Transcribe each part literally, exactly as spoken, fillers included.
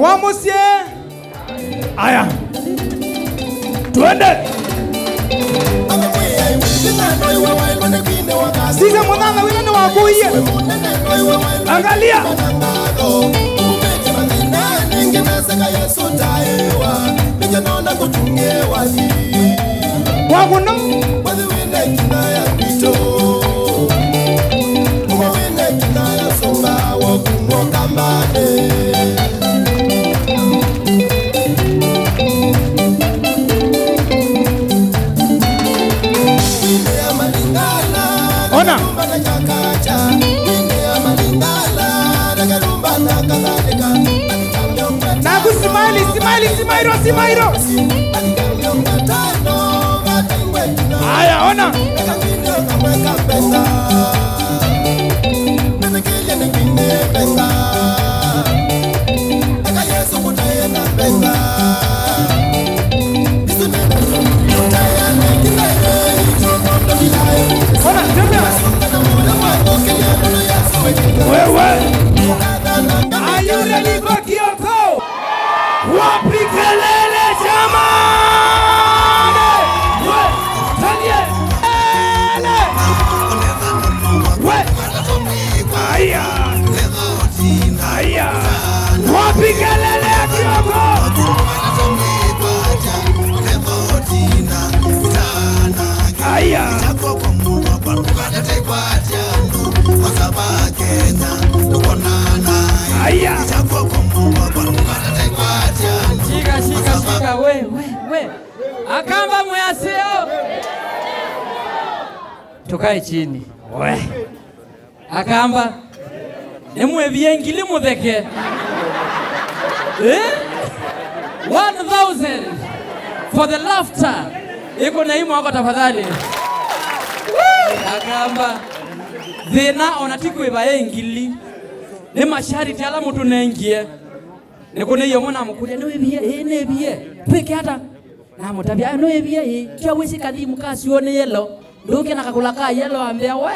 Wa mũsyĩ. Aya. Twende. Sisya mũthanga wĩla nĩwakũie. Angalia. Wa mũno. Ona. Naku smile, smile, smile, smile. Aya, ona. Ona, tembea. Wewe. Are you ready for Kioko? Wapi kelele jamani? We, Daniel. Kelele. We. Aya. Aya. Wapi kelele ya Kioko? Aya. Aya. Shika, shika, shika, we, we, we. Akamba mwĩaseo. Tukae chini. We. Akamba. Nĩmwĩvie ngili mũtheke. Eh? One thousand for the laughter. Ĩkũnei moko tafadhali. Akamba. Thĩna ona ti kwĩva ĩ ngili. Nĩ mashariti ala mũtũnengie. Nĩkũnei ũmwe namũkũlya, "Nĩwĩvie?" "Ĩĩ, nĩvie." "Twĩke ata?" Namũtavya, "Nĩwĩvie ĩĩ? Kyo wĩsĩ kathimu ka syũũ nĩ yelo. Ndũke na kakũla ka yelo ambĩa, we.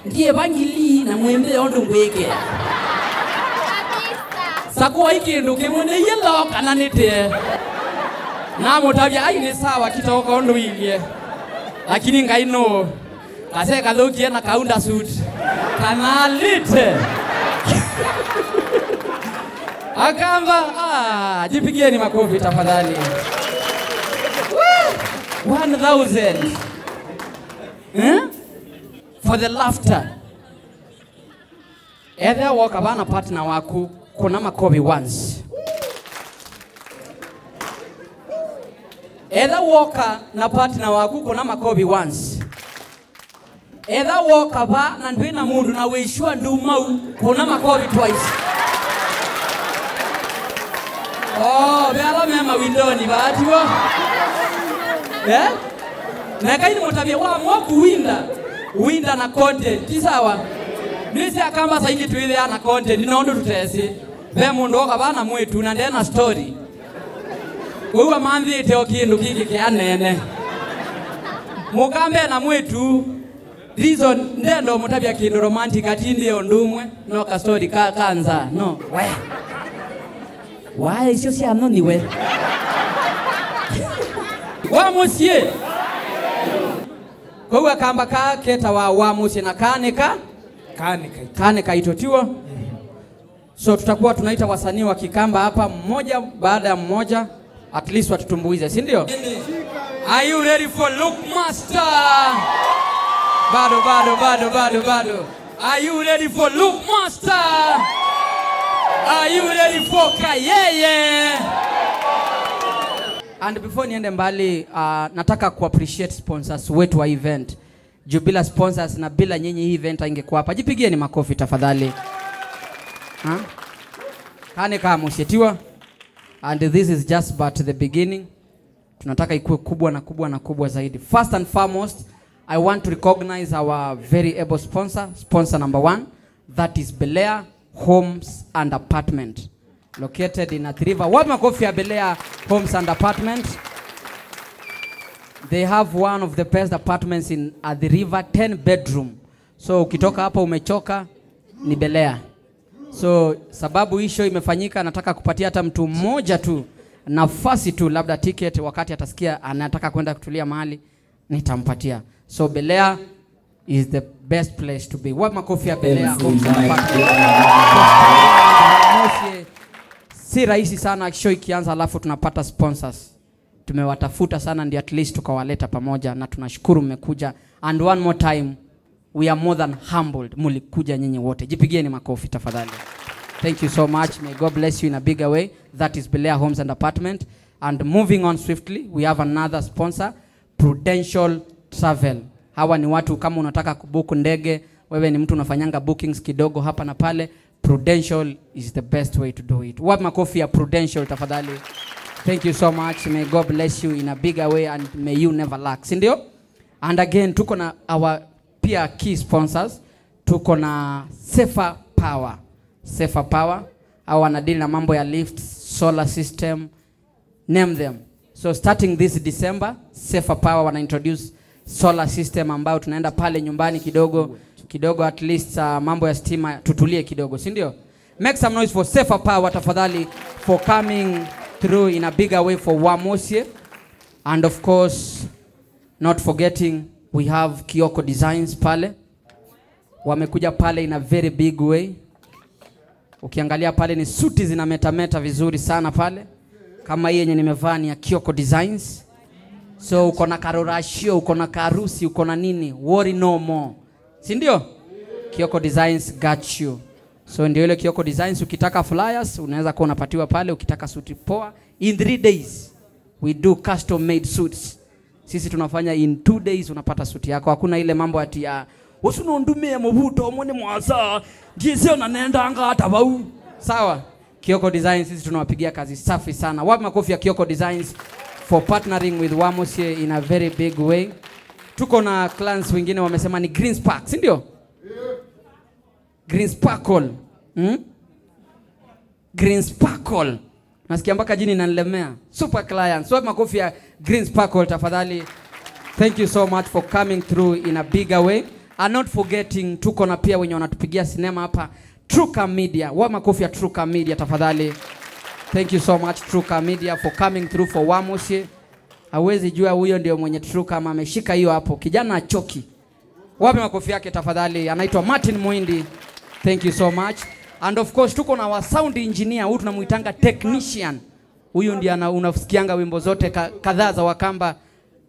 Ndiĩva ngili na mwĩmbĩe ũndũ ngwĩkĩa. Sakuai kĩndũ kĩmwe, nĩ yelo kana nĩ tĩe." Namũtavya, "Ai, nĩ sawa, kĩtoka ũndũ inyie. Lakini Ngai nũũ?" Kase kathũkie na kaunda suit. Kana alite. Akamba, ah, jipigieni makofi tafadhali. Woo! One thousand. Eh? For the laughter. Ethĩa woka vaa na partner waku, kũna makovi once. Ethĩa woka na partner waku, kũna makovi once. Ethĩa woka vaa na ndwĩ na mũndũ na wĩ sure ndumau, kũna makovi twice. Oh, ve ala me mawindoni vaa, tiw'o? Eh? Na ekai nĩmũtavye, wamua kũwinda, winda na content, ti sawa? Nĩsĩ Akamba saa ingĩ twĩthĩaa na content, no ũndũ tũtesĩ. Ve mũndũ oka vaa na mwĩĩtu na nde na story. Ũu amanthĩte o kĩndũ kĩngĩ kĩanene. Mũkambe na mwĩĩtu, reason, ndenda ũmũtavya kĩndũ romantic, atindĩe ũndũ ũmwe, no ka story ka, ka nza, no, we. Wae icio sya nthoni we. Wa mũsyĩ. Kwoou Akamba kaa ketawa wa mũsyĩ na kaa nĩ ka? Kaa nĩ kaitũ. Kaa nĩ kaitũ, tiw'o? So tutakuwa tunaita wasanii wa Kikamba hapa mmoja baada ya mmoja, at least watutumbuize, si ndio? Are you ready for Look Master? Bado, bado, bado, bado, bado. Are you ready for Look Master? Are you ready for Kayeye? And before niende mbali, uh, nataka ku appreciate sponsors wetu wa event. Juu bila sponsors na bila nyinyi hii event haingekuwa hapa. Jipigieni makofi tafadhali. Ha? Kane kama mũsyĩ, tiw'o? And this is just but the beginning. Tunataka ikue kubwa na kubwa na kubwa zaidi. First and foremost, I want to recognize our very able sponsor, sponsor number one, that is Belea Homes and Apartment. Located in Athi River. Wapi makofi ya Belea Homes and Apartment? They have one of the best apartments in Athi River, ten bedroom. So ukitoka hapa umechoka, ni Belea. So, sababu hii show imefanyika, nataka kupatia hata mtu mmoja tu nafasi tu, labda ticket, wakati atasikia anataka kwenda kutulia mahali, nitampatia. So, Bel Air is the best place to be. Wapi makofi ya Bel Air Homes and Apartments? Si rahisi sana show ikianza alafu tunapata sponsors. Tumewatafuta sana, ndio at least tukawaleta pamoja, na tunashukuru mmekuja. And one more time, we are more than humbled. Mulikuja nyinyi wote. Jipigieni makofi tafadhali. Thank you so much. May God bless you in a bigger way. That is Bel Air Homes and Apartment. And moving on swiftly, we have another sponsor, Prudential Travel. Hawa ni watu, kama unataka kubook ndege, wewe ni mtu unafanyanga bookings kidogo hapa na pale, Prudential is the best way to do it. Wapi makofi ya Prudential tafadhali? Thank you so much. May God bless you in a bigger way and may you never lack. Si ndio? And again, tuko na our pia key sponsors. Tuko na Safer Power. Safer Power. Hawa wanadeal na mambo ya lifts, solar system, name them. So starting this December, Safer Power wana introduce solar system ambayo tunaenda pale nyumbani kidogo kidogo, at least, uh, mambo ya stima tutulie kidogo, si ndio? Make some noise for Safer Power tafadhali, for coming through in a bigger way for Wamosie. And of course, not forgetting, we have Kioko Designs pale. Wamekuja pale in a very big way. Ukiangalia pale ni suti zinametameta vizuri sana pale. Kama hii yenye nimevaa ni ya Kioko Designs. So uko na karorashio, uko na karusi, uko na nini, worry no more. Si ndio? Kioko Designs got you. So ndio ile Kioko Designs, ukitaka flyers, unaweza kuwa unapatiwa pale, ukitaka suti poa. In three days, we do custom made suits. Sisi tunafanya in two days unapata suti yako. Hakuna ile mambo ati ya, "Usu nundumie muvuto umwe ni mwasa, njisio na nendanga hata vau." Sawa? Kioko Designs, sisi tunawapigia kazi safi sana. Wapi makofi ya Kioko Designs for partnering with Wamosie in a very big way. Tuko na clients wengine wamesema ni Green Spark, si ndio? Green Sparkle. Hmm? Green Sparkle. Nasikia mpaka jini inanilemea. Super clients. Wapi makofi ya Green Sparkle tafadhali? Thank you so much for coming through in a bigger way. And not forgetting, tuko na pia wenye wanatupigia sinema hapa. Truka Media. Wapi makofi ya Truka Media tafadhali? Thank you so much Truka Media for coming through for Wamosie. Hawezi jua huyo ndio mwenye Truka ama ameshika hiyo hapo. Kijana achoki. Wapi makofi yake tafadhali? Anaitwa Martin Muindi. Thank you so much. And of course, tuko na wa sound engineer, huyu tunamuitanga technician. Huyu ndiye ana-, unasikianga wimbo zote ka-, kadhaa za Wakamba.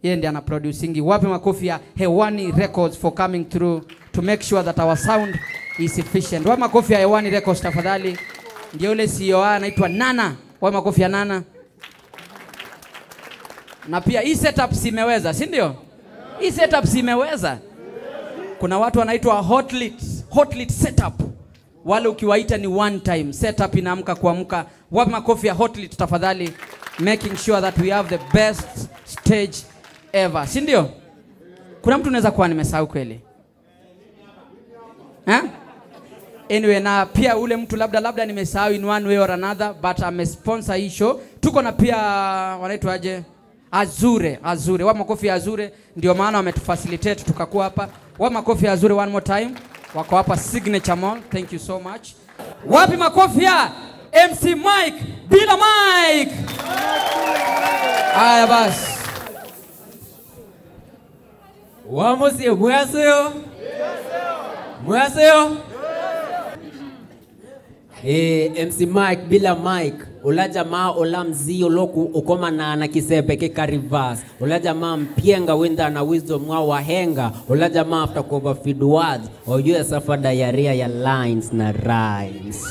Yeye ndiye ana producingi. Wapi makofi ya Hewani Records for coming through to make sure that our sound is efficient? Wapi makofi ya Hewani Records tafadhali? Ndio ule C E O anaitwa Nana. Wapi makofi ya Nana? Na pia hii setup si imeweza, si ndio? Hii setup si imeweza. Kuna watu wanaitwa Hotlit, Hotlit setup. Wale ukiwaita ni one time, setup inaamka kuamka. Wapi makofi ya Hotlit tafadhali? Making sure that we have the best stage ever, si ndio? Kuna mtu naweza kuwa nimesahau kweli? Eh? Anyway, na pia ule mtu labda, labda nimesahau in one way or another, but amesponsor hii show. Tuko na pia, wanaitwa aje? Azure, Azure. Wapi makofi ya Azure? Ndio maana wametufacilitate tukakuwa hapa. Wapi makofi ya Azure one more time? Wako hapa Signature Mall. Thank you so much. Wapi makofi ya M C Mike bila Mike? Haya basi. Wamosie, mwĩ aseo? Mwĩ aseo? Ĩĩ, M C Mike bila Mike, ũla jamaa ũla mzii ũloku ũkomanaa na kĩseve kĩka reverse, ũla jamaa mpyenga wĩnthaa na wisdom wa wahenga, ũla jamaa after kuoverfeed words, oyu esuffer diarrhea ya lines na rhymes.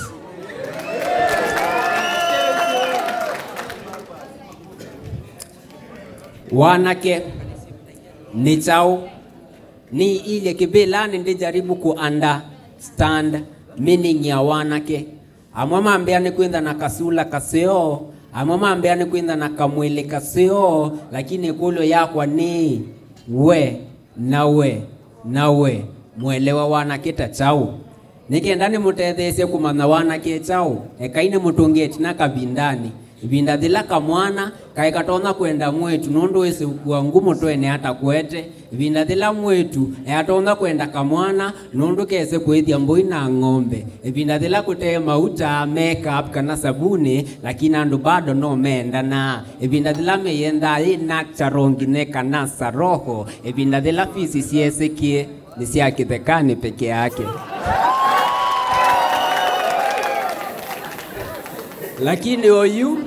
Wanake nĩ kyaũ? Nĩilye kĩvĩlanĩ ndĩjaribu ku understand meaning ya wanake. Amwe mambĩa nĩ kwĩntha na kasula kaseo, amwe mambĩa nĩ kwĩntha na kamwĩlĩ kaseo, lakini ĩkũlyo yakwa nĩ, we, na we, na we, mũelewa wanake ta kyaũ? Nĩ kenda nĩmũtetheesye kũmanya wanake kyaũ, ekai nĩmũtũngĩe ĩtina kavindanĩ. Ĩvinda yĩla kamwana kaĩ katonya kwenda mwĩĩtu nũndũ wĩsĩ ũkua ngu mũtwenĩ atakwete. Ĩvinda yĩla mwĩĩtu eatonya kwenda kamwana nũndũ kese kũĩthya mbũi na ng'ombe. Ĩvinda yĩla kũte mauta, makeup kana savunĩ, lakini andũ bado no mendanaa. Ĩvinda yĩla meyenda yĩ natural nginya ĩkanasa roho. Ĩvinda yĩla fisi syesĩkie nĩ sya kĩthekanĩ peke yake. Lakini oyu,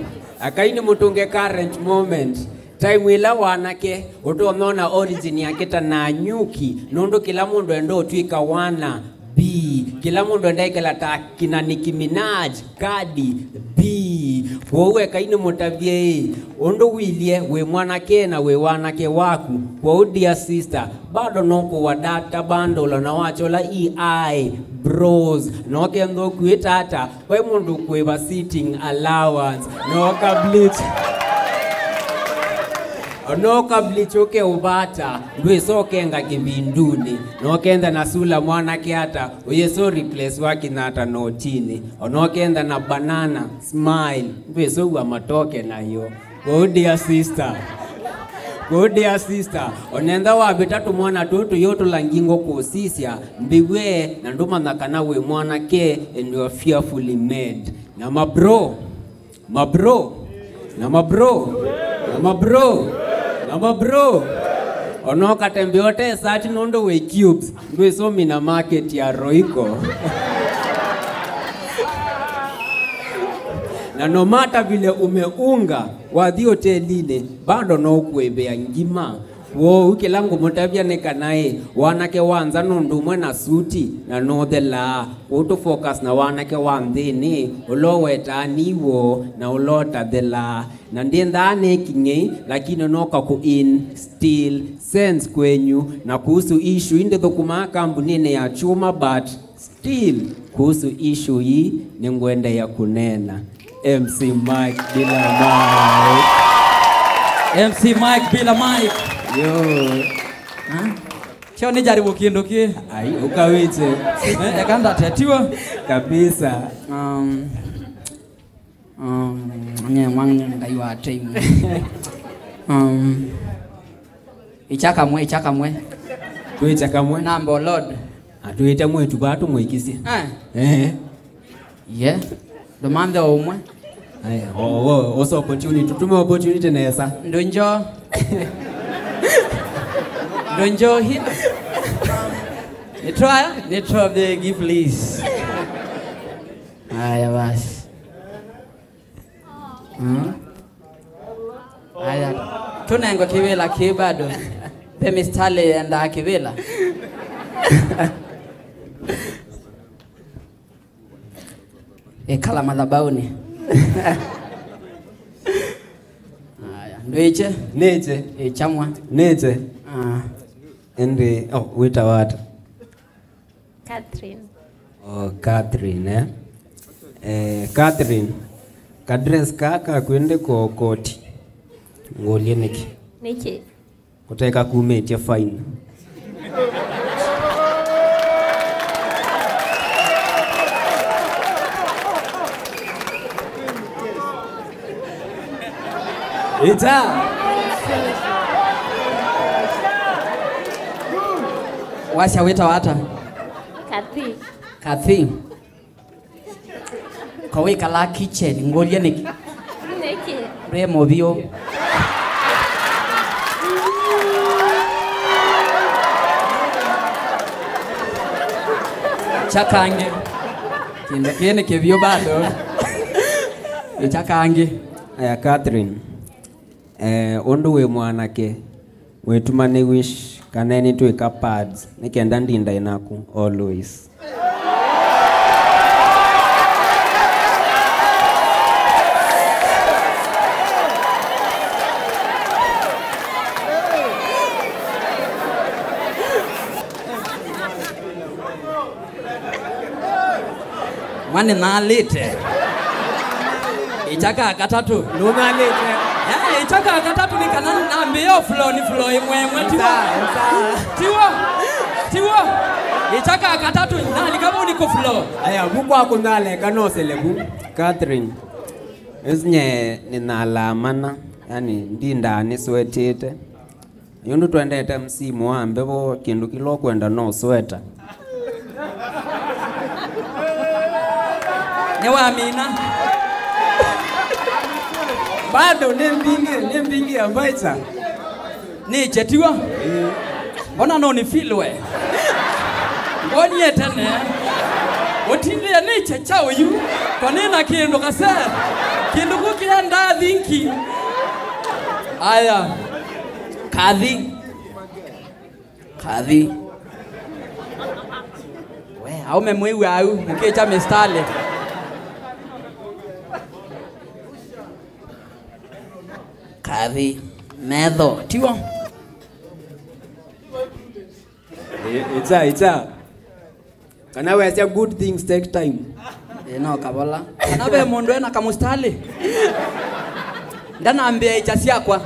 akai nĩ mũtũnge current moment. Time ĩla wanake ũtonona origin yake ta Nanyuki, nũndũ kĩla mũndũ enda ũtw'ĩka wana B. Kĩla mũndũ enda ĩkala ta kina Nicki Minaj, Cardi B. Kwoou ekai nĩ mũtavye ĩ, ũndũ wilye wĩ mwanake na wĩ wanake waku. Kwoou dear sister, bado no kũwa data bundle na wachola E I bros. No kethwa ũkuĩte ata, vai mũndũ kũĩva sitting allowance. No ka bleach. No ka bleach ũke ũvata, ndwĩsa ũkenga kĩvindunĩ. No kenda na sula mwanake ata, ũyĩsa replace wa kĩnyata notinĩ. Ona ũkenda na banana, smile, ndwĩsa ũwa matoke nayo. Kwoou dear sister. Kwoou dear sister, onentha wavĩta tũmwana tũtũ yũtũla ngingo kũsisya, mbiw'e na ndũmanya kana wĩ mwanake and you are fearfully made. Na mabro, mabro, na mabro, na mabro, na mabro. Ona ũkatembe ũte sati nũndũ wĩ cubes, ndwĩsũmi na market ya Royco. Na no matter vile umeunga, wathi hotelinĩ, bado no kũĩvĩa ngima. Kwoou kĩla ngũmũtavya nĩ kana ĩ, wanake wa nza nũndũ ũmwe na suti na nũthelaa. Kwoou tũ focus na wanake wa nthĩnĩ, ũla ũwetaa niw'o na ũla ũtathelaa. Na ndĩnthaa nĩ king'ei, lakini no kakũ instill sense kwenyu. Na kuhusu issue ii ndĩthũkũmaa kambunĩnĩ ya chuma, but still, kuhusu issue hii, nĩngwendeea kũneena. M C Mike bila mic. M C Mike bila mic. Yo. Ha? Kyo nĩ jaribu kĩndũ kĩ. Ai, ũkawĩte. Eh, eka ndatetiwa. Kabisa. Um, Um, nye mwange Ngai wa time. Um, icha kamwe, icha kamwe. Twĩkya kamwe. Number Lord. Atwĩte mwĩĩtu vaa tũmũĩkĩsye. Eh. Eh. Ye. Ndũmanthe o ũmwe. Aya, o, o, osa opportunity. Tutume opportunity nesa. Ndũnjo. Ndũnjo hi. Nĩtwa, nĩtwa begi, please. Aya basi. Mm. Aya, tũnengwe kĩvĩla kĩ bado. Ve mistari yendaa kĩvĩla. Ĩkala mathabaũnĩ. Aya, ndwĩkye? Nĩkye. Ĩchamwa. Nĩkye. Ah. Ĩndĩ, oh, wĩtawa ata? Catherine. Oh, Catherine, eh? Eh, Catherine, ka dress kaa kakwendeka koti. Ngũlye nĩkĩ? Nĩkĩ? Kũteka kumĩtye fine. Ĩta. Wasya wĩtawa ata? Kathy. Kathy. Ko wĩkalaa kitchen, ngũlye nĩkĩ? Nĩkĩ? Ndwĩ mũvyũ. Kya kangĩ. Kĩndũ kĩĩ nĩ kĩvyũ bado. Nĩ kya kangĩ. Aya, Catherine. Eh, ũndũ wĩ mwanake, wĩtuma nĩ wish kana nĩtwĩka pads, nĩ kenda ndindae naku always. Mwa nĩnalĩte. Ĩkya ka katatũ. Nũnalĩte. Eh, ĩkya ka katatũ nĩ kana nambĩĩa o floor nĩ floor ĩmwe ĩmwe, tiw'o? Nza, nza. Tiw'o? Tiw'o? Ĩkya ka katatũ, nalika vau nĩ kũ floor. Aya, vu kwa kũnaleka no selebu. Catherine. Ĩsu nye nĩnalaa mana, yani ndindaa nĩswetĩte. Yũndũ twendete msimu wa mbevo, kĩndũ kĩla ũkwenda no sweta. Nĩwamina. Bado nĩ mbingĩ, nĩ mbingĩ ya mbaisa. Nĩkye tiw'o? Mbona no nĩ feel we? Ngonie tene. Ũtindĩe nĩkye kyaũ yu? Ko nĩ na kĩndũ kase. Kĩndũ kũ kĩendaa thinki. Aya. Kathi. Kathi. We, aume mwĩw'a au, mũkĩkya mistali. Kathi. Metho. Tiw'o? Ĩ-, ĩkya, ĩkya. Kana wesya good things take time. Ĩ, no kavola. Kana ve mũndũ ena kamustali? Ndanambĩa ĩkya syakwa.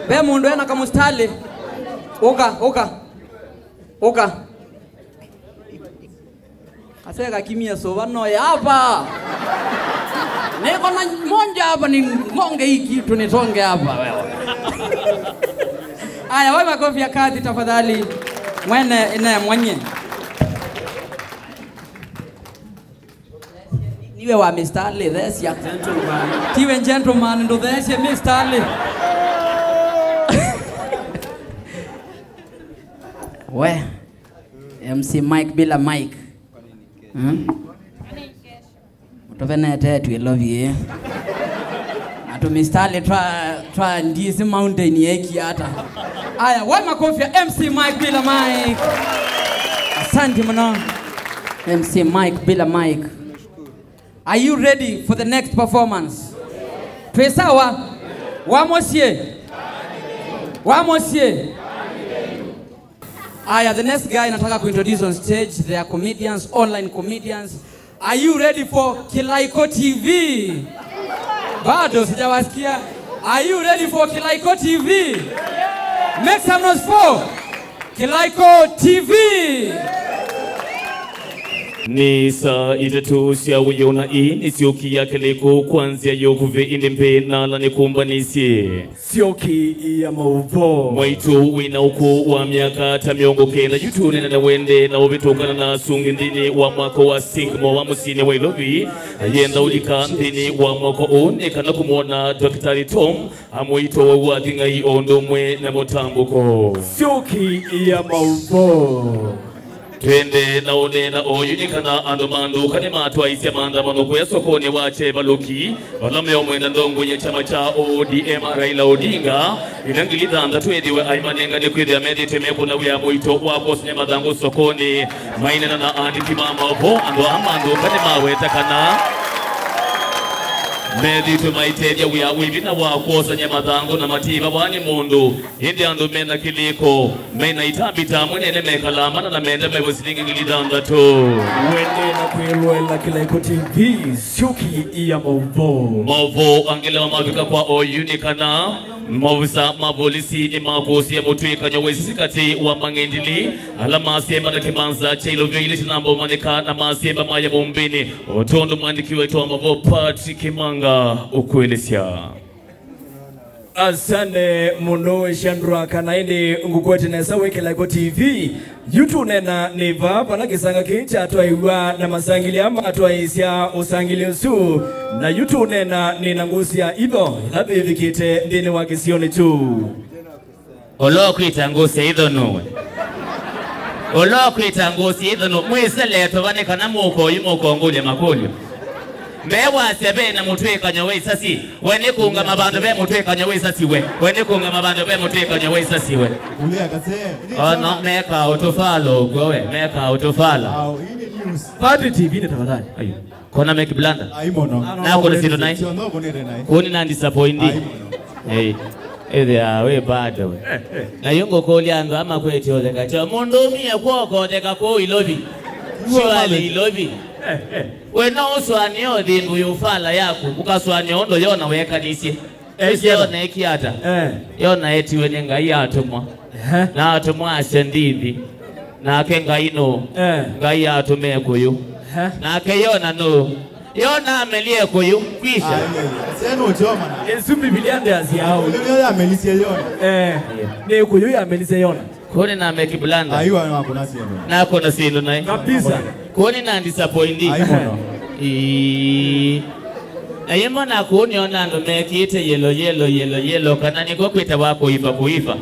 Ve mũndũ ena kamustali? Ũka, ũka. Ũka. Kaseka kimia sova no ya hapa. Niko na moja hapa, ni monge hii kitu nisonge hapa wewe. Aya, waĩ makofi ya Kathi tafadhali. Mwene ine mwenye. Niwe wa mistali, thesya. Gentleman. Tiwe gentleman, ndũthesye mistali. We. M C Mike bila Mike. Hmm? Mũtũvenete twĩ lovi. Na tũmistali twa, twa ndisi mountain yeki ata. Aya, waĩ makofi ya M C Mike bila Mike. Asante mũno. M C Mike bila Mike. Are you ready for the next performance? Twĩ sawa? Wa mũsyĩ. Wa mũsyĩ. Aya, the next guy nataka kuintroduce on stage, they are comedians, online comedians. Are you ready for Kilaiko T V? Bado sijawasikia. Are you ready for Kilaiko T V? Make some noise for Kilaiko T V. Nĩ saa itatũ sya wĩoo na ii nĩ syoki ya Kĩlaiko kwa nzĩa ya ũkuvĩ, ĩndĩ mbee na ala nĩkũmbanĩsye. Syoki ya maũvoo. Mwaitũ wĩ na ũkũũ wa myaka ta mĩongo kenda, yu tũneena na wende na ũvĩtũkana na asungi nthĩnĩ wa mwako wa Singmo wa mũsyĩnĩ wa Ilovi. Ayenda ũlika nthĩnĩ wa mwako ũũ nĩ kana kũmwona Ndakĩtalĩ Tom, amũitwa wau wa thing'ai o ũndũ ũmwe na mũtambũko. Syoki ya maũvoo. Twende na ũneena oyu nĩ kana andũ ma ndũka nĩmatwaisye maandamano kũya sokonĩ wa Chevaluki, vala meũmwenda ndongo ya kyama kya O D M Raila Odinga, ĩla ngili thanthatũ ethĩwe aimanenga nĩ kwĩthĩa methĩĩtwe mekũna wĩa mũito wa kwosany'a mathangũ sokonĩ. Maineena na andĩki ma maũvoo, andũ aa ma ndũka nĩmaweta kana methĩĩtwe maitethya wĩa wĩ vinya wa kwosany'a mathangũ na matiĩvawa nĩ mũndũ. Ĩndĩ andũ me na kĩlĩko, me na itambĩ ta amwe nene mekalaa mana na menda mew'a silingi ngili thanthatũ. Wende na kwĩloela Kĩlaiko T V, syoki ya maũvoo. Maũvoo angĩ ala mavika kwa oyu nĩ kana maovisa ma volisi nĩmakũsĩe mũtw'ĩkanyo wa ĩsasi katĩ wa mang'endili ala masemba na kĩmanza kya ilovyo ilĩ syĩnambomanyĩka na masemba maya mũmbĩnĩ, o tondũ mwandĩki wetu wa maũvoo Patrick Kimanga ũkwĩlĩsya. Asante mũndũ ũsyandũa kana ĩndĩ ngũkwete nesa wĩ Kĩlaiko T V. Yu tũneena nĩ vaa vala kĩsanga kĩĩ kyatwaĩw'a na masangĩli aa matwaĩĩsya ũsangĩli ũsu. Na yu tũneena nĩ na ngũsĩ ya itho ĩla yĩvikĩte nthĩnĩ wa kĩsionĩ kyu. Ũla ũkwĩta ngũsĩ ya itho nũwe? Ũla ũkwĩta ngũsĩ ya itho nũwe? Mwĩsele tũva nĩ kana mũka oyu mũkongũlya makũlyo. Mbee wasya ve na mũtw'ĩkanyo wa ĩsasi, we nĩ kũũngama vandũ ve mũtw'ĩkanyo wa ĩsasi we. We nĩ kũũngama vandũ ve mũtw'ĩkanyo wa ĩsasi we. Ulia kase. Ono meka ũtũfala ũkw'o we, meka ũtũfala. Au, hii ni news. Padri T V nĩ tafadhali. Ayu. Kona meki blanda. Ai mũno. Na kũnĩ sindũ nai. Sio no kũnĩ nai. Kũnĩ na disappoint. Ai mũno. Hey. Ĩthĩa wĩ bado we. Na yu ngũkũlya andũ ama kwĩtya ũtheka. Tyo mũndũ ũmie kw'oko ũtheka kũu Ilovi. Surely Ilovi. We no ũsũanĩe ũthĩndũ yũfala yaku, ũkasũanĩa ũndũ Yona weekanisye. Ĩsĩ Yona ekie ata? Eh. Yona etiwe nĩ Ngai atũmwa. Ehe. Na atũmwa asya ndithi. Nake Ngai nũ? Eh. Ngai atũme kũyũ. Ehe. Nake Yona nũ? Yona amelie kũyũ, kwisha. Ai, ai, ai. Seno choma na. Ĩsu Mbivilia ndĩasya ũu. Ndio yamelisye Yona. Eh, nĩ kũyũ yamelisye Yona. Kũnĩ na meki blanda. Aiwa, nakũna syĩndũ. Nakũna syĩndũ naĩ. Kabisa. Kũnĩ na disappoint. Ai mũno. Ĩĩ. Na yĩmwe nakũnĩona andũ mekĩte yellow, yellow, yellow, yellow, kana nĩko kwĩtawa kũiva, kũiva.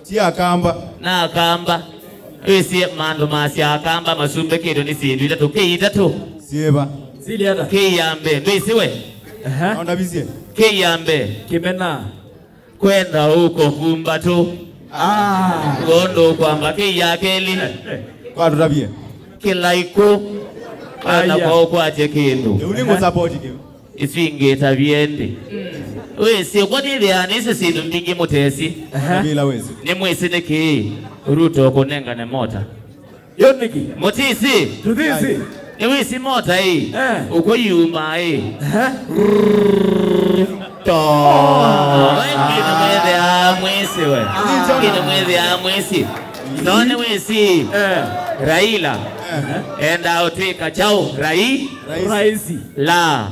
Ti Akamba. Na Akamba. Wĩsĩ maandũ masya Akamba masumbĩkĩtwe nĩ syĩndũ itatũ. Kĩ itatũ. Syĩva. Sili ata? Kĩ ya mbee. Ndwĩsĩ we? Aha. Naondavisye. Kĩ ya mbee. Kĩmena. Kwenda ũko kumbatũ. Ah. Ngondũ kwamba kĩ ya kelĩ. Kwatũtavie. Kĩlaikũ. Kana aya. Kwa ũkwatye kĩndũ. Ĩu nĩ ngũ support kĩu. Isu ingĩ ta vyendi. Wĩsĩ, ũkwatĩthĩa nĩsĩ syĩndũ mbingĩ mũtesĩ. Aha. Bila wĩsĩ. Nĩ mwĩsĩ nĩkĩ Ruto kũnengane mota? Yo nĩkĩ? Mũtĩsĩ. Tũtĩsĩ. Nĩ wĩsĩ mota ĩ. Eh. Ũkũ yuma ĩ. Aha. To. Kĩndũ mwĩthĩa mwĩsĩ we. Ah. Kĩndũ mwĩthĩa mwĩsĩ. No nĩ wĩsĩ. Eh. Raila. Eh. Enda ũtwĩka chao. Rai. Raisi. La.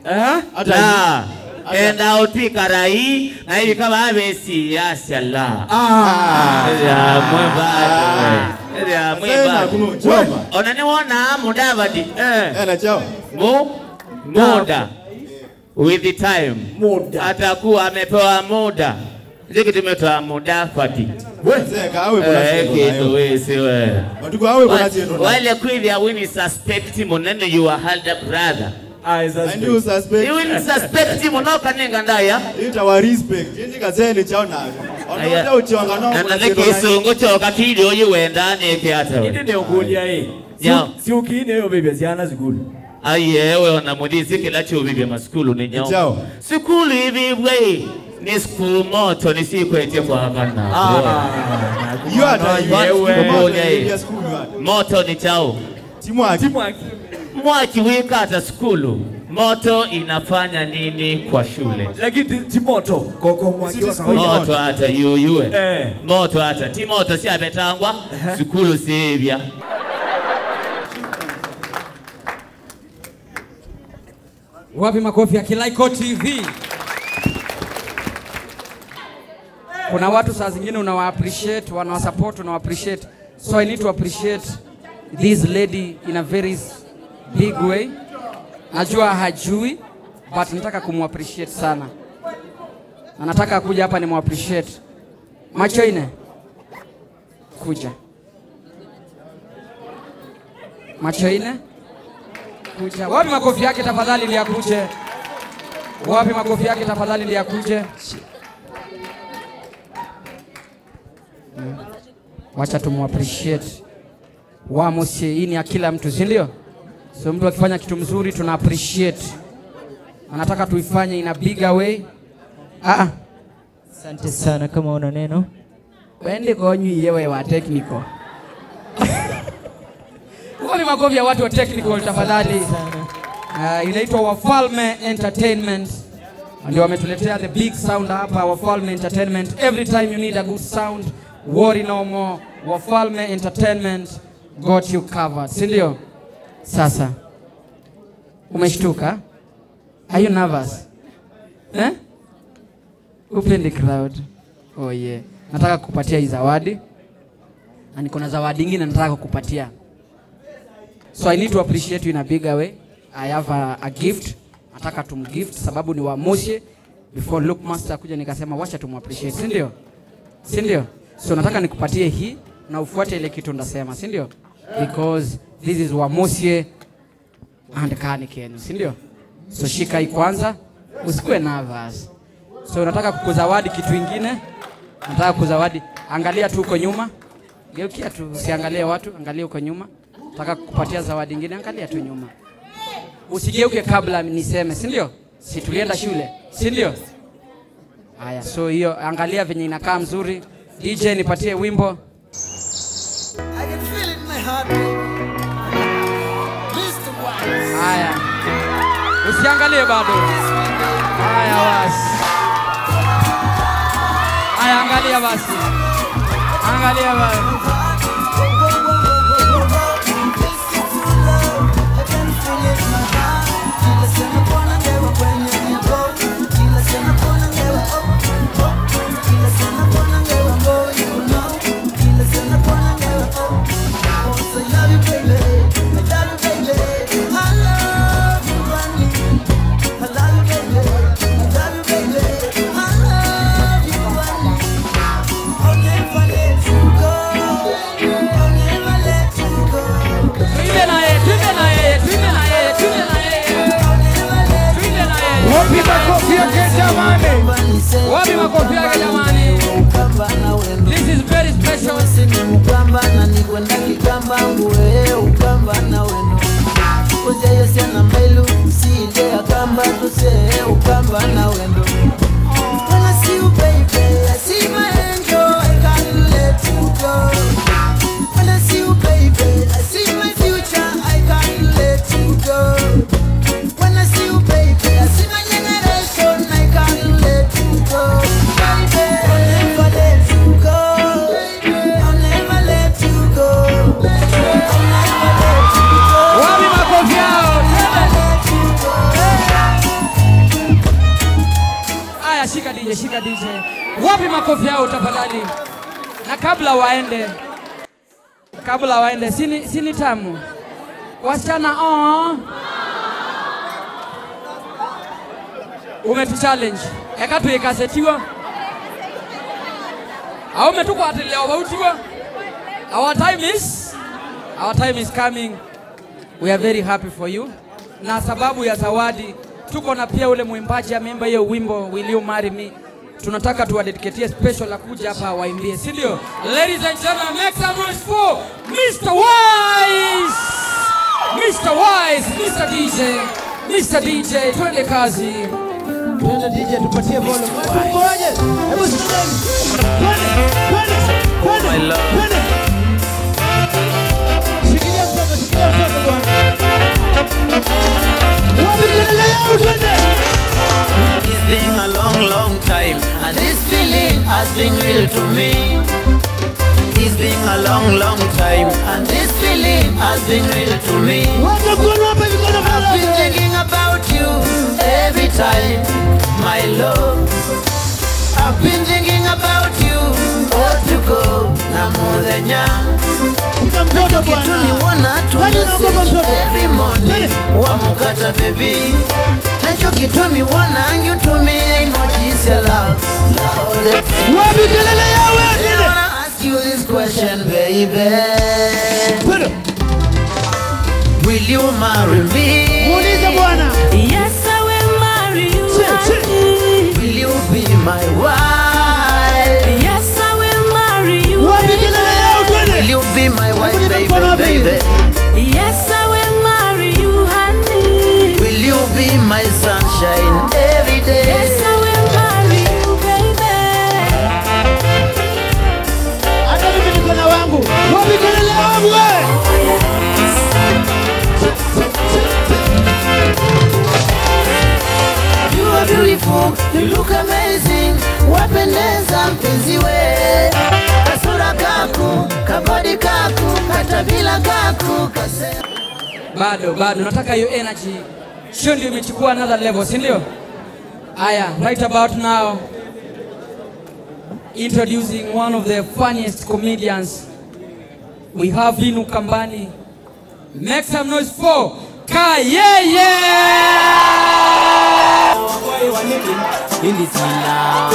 Eh? Ata la, ata. Enda ũtwĩka rai, na ĩvika vavesi yasya la. Ah. Ĩthĩa mwĩ bado. Ĩthĩa mwĩ bado. Ona nĩwona Mudavadi. Eh. Ena chao. Mu-, muda. With the time. Muda. Atakuwa amepewa muda. Ndio kitu imetwa Mudavadi. We. Mzee, kawe kuna eh, siku kitu nayo. Wĩsĩ we. Watuku awe kuna siku nayo. Wale kwithia wini suspect mũnene you are elder brother. Ah, is suspect. And you suspect. You will suspect mũno kanenga ndaya. Ita wa respect. Indi kazeni chao nayo. Aya. Ona uchonga no. Na nake kisungu choka kili oyi wenda neke ata we. Indi nĩ ũkũlya ĩ. Yao. Siuki nĩ yo bebe syana sukulu. Ai, ewe ona mũthĩsĩ kĩla kyũvĩvye masukulu nĩ nyao. Nĩ kyaũ? Sukulu ivĩvw'e ĩ, nĩ sukulu moto nĩsyĩkwetye kwakana. Ah, you are the, you are the, moto nĩ kyaũ? Ti mwaki. Ti mwaki. Mwaki wĩka ata sukulu? Moto inafanya nini kwa shule? Lakini ti, ti moto. Koko mwaki wa kawaida. Moto ata yuyue. Eh. Moto ata. Ti moto syavetangwa, ehe, sukulu siivya. Wapi makofi ya Kilaiko T V? Kuna watu saa zingine unawa appreciate, wanawa support, unawa appreciate. So I need to appreciate this lady in a very s-, big way. Najua hajui, but nataka kumu appreciate sana. Na nataka kuja hapa nimu appreciate. Macho ine. Kuja. Macho ine. Kuja. Wapi makofi yake tafadhali ndiye akuje? Wapi makofi yake tafadhali ndiye akuje? Mm. Wacha tumu appreciate. Wa mũsyĩ, hii ni ya kila mtu, si ndio? So mtu akifanya kitu mzuri tuna appreciate. Anataka tuifanye in a bigger way. Ah. Asante sana, kama una neno. Wende konyu iye we wa technical. Wapi makofi ya watu wa technical tafadhali? Asante sana. Ah, inaitwa Wafalme Entertainment. Ndio wametuletea the big sound hapa, Wafalme Entertainment. Every time you need a good sound, worry no more. Wafalme Entertainment got you covered. Si ndio? Sasa. Umeshtuka? Are you nervous? Eh? Upendi crowd? Oh yeah. Nataka kukupatia hii zawadi. Na niko na zawadi nyingine nataka kukupatia. So I need to appreciate you in a bigger way. I have a, a gift. Nataka tumgift sababu ni wa Moshi. Before Luke Master kuja nikasema wacha tumappreciate, si ndio? Si ndio? So nataka nikupatie hii na ufuate ile kitu ndasema, si ndio? Because this is wa Moshi. And kani kenyu, si ndio? So shika hii kwanza, usikuwe nervous. So nataka kukuzawadi kitu ingine. Nataka kuzawadi. Angalia tu huko nyuma. Geukia tu, usiangalie watu, angalia huko nyuma. Nataka kukupatia zawadi ingine, angalia tu nyuma. Usigeuke kabla niseme, si ndio? Si tulienda shule, si ndio? Haya, so hiyo angalia venye inakaa mzuri. D J nipatie wimbo. I can feel it in my heart. Mister Wise. Haya. Usiangalie bado. Haya basi. Haya, angalia basi. Angalia basi. Makofi yake jamani. This is very special. Wapi makofi yao? Aya, shika D J, shika D J. Wapi makofi yao tafadhali? Na kabla waende, kabla waende, sini, sini tamu. Wasichana, oh. Umetuchallenge. Eka tuikase tiwa. Aume tukwatĩlĩa o vau tiwa. Our time is, our time is coming. We are very happy for you. Na sababu ya zawadi, tuko na pia ule mwimbaji ameimba hiyo wimbo, Will You Marry Me? Tunataka tuwadediketie special la kuja hapa waimbie, si ndio? Ladies and gentlemen, make some noise for Mister Wise! Mister Wise, Mister D J, Mister D J, twende kazi. Twende D J, tupatie volume. Watu mkoje? Hebu sikizeni. Twende, twende, twende, twende. Shikilia mtoto, shikilia mtoto bwana. Wapi kelele yao, twende. It's been a long, long time, and this feeling has been real to me. It's been a long, long time, and this feeling has been real to me. Weka mkono hapa hivi, mkono hapa. I've been thinking about you every time, my love. I've been thinking about you, ũtukũ na mũthenya. Kuna mtoto bwana. Kitu niwona tu message every morning, wamũkata baby. Nacho kitu niwona you to me, emojis ya love. Wapi kelele yawe? I wanna ask you this question, baby. Kwenda. Will you marry me? Muulize bwana. Yes, I will marry you, honey. Will you be my wife? Yes, I will marry you. Wapi kelele yao, twende. Will you be my wife, baby, baby? Yes, I will marry you, honey. Will you be my sunshine every day? Yes, I will marry you, baby. Hata mimi niko na wangu. Wapi kelele wangu, eh? You are beautiful, you look amazing. Wapendeza mpenzi we. Kasura kaku, kabodi kaku, katabila kaku, kase- Bado, bado. Nataka hiyo energy. Show ndio imechukua another level, si ndio? Aya, right about now, introducing one of the funniest comedians we have in Ukambani. Make some noise for Kayeye! Indi sina.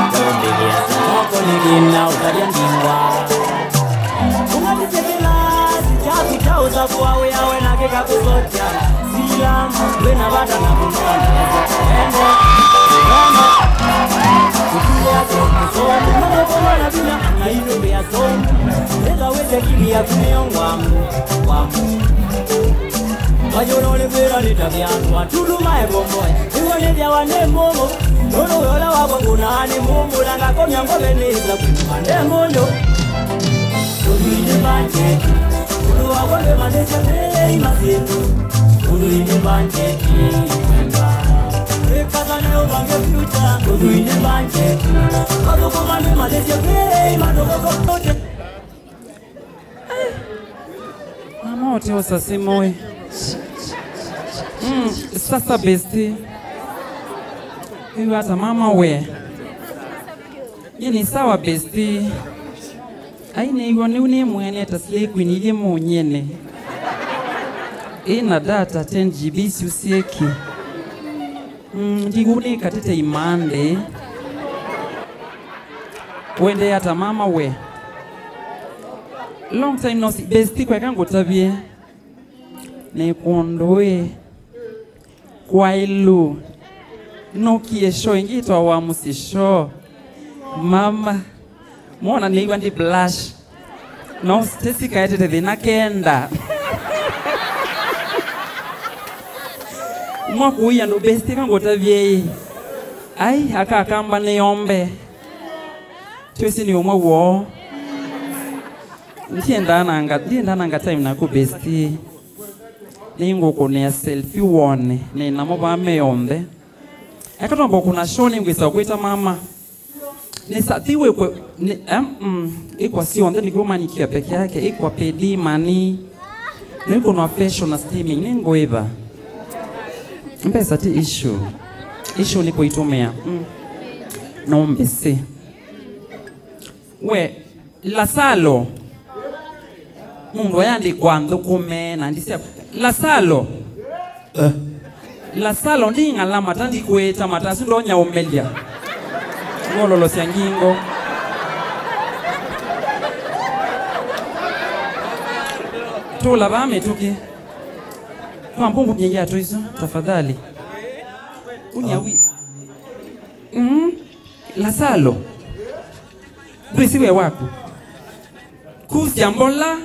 Ndombilia soko nigina utalia ndingwa. Ungatisitila, sijaku cha usafu wa uyawe na kika kusotia. Sila, wena vata na kunoa. Ende, ende. Kutulia so, so, kunoa kwa na bila, na inu ya so. Enda weze kili ya kunio ngwamu, ngwamu. Vayũlũlĩkwĩlwa nĩ ta vyandũ atulu maevomboe. Nĩw'o nĩthĩawa nĩ mũmũ, nũndũ wĩa ũla wakwa ngũnaa nĩ mũmũ, na ngakomya ngome nĩ ĩsa kuma nde ngũnyũ. Ũthwii nĩ mbanjeti, ũndũ wakwa ndwĩmanyĩsya vei masyĩtũ. Ũthwii nĩ mbanjeti, wemba. Wĩkasane ũvange future, ũthwii nĩ mbanjeti. Mathũkũma ndwĩmanyĩsya vei mathũkũma. Mama wote osasimoe. Mm, sasa besti. Hivi hata mama we. Ni sawa besti. Ai, nĩw'o nĩu nĩ mwene ta slay queen ilyĩ mũnyene. Ĩna data ten G B syusieki. Mm, ndiku nĩ katĩte imande. Wendee ata mama we? Long time no see. Besti, kweka ngũtavye. Nĩ kũndũ ĩ. Kwailu. Nũkie show ĩngĩ ĩtawa Wa Mũsyĩ Show. Mama. Mona nĩiwa ndi blush. No, Stacy kaetete thĩna kenda. Mwa kũi andũ besti kangũtavye ĩ. Ai, aka Akamba nĩ ombe. Twĩsĩ nĩ ũmwe woo. Ndiendaa nanga, ndiendaa nanga time naku besti. Nĩngũkũnĩa selfie wone, nĩ namo vaa me onthe. Eka twamba kũna show nĩngwĩsa kwĩta mama. Nĩ sa, ti wĩkwe, nĩ, em, mm, ĩkwa syonthe nĩkĩo manikia peke yake, ĩkwa pedi mani. Nĩkũnwa fashion na steaming, nĩngũĩva. Mbesa ti issue. Issue nĩ kũitũmĩa. Mm. No mbĩsĩ. We, Lasalo. Mũndũ ayandĩkwa nthũkũme na ndisya. Lasalo. Eh. Lasalo, nding'ala mata ndikwĩta mata, asu ndonya ũmelya. Ngololosya ngingo. Tũla vaa mĩtũkĩ. Kwa mbũmbũ myei yatũ isu, tafadhali. Unya wi. Mm. Lasalo. Ndwĩsĩ we waku. Kusya mbola.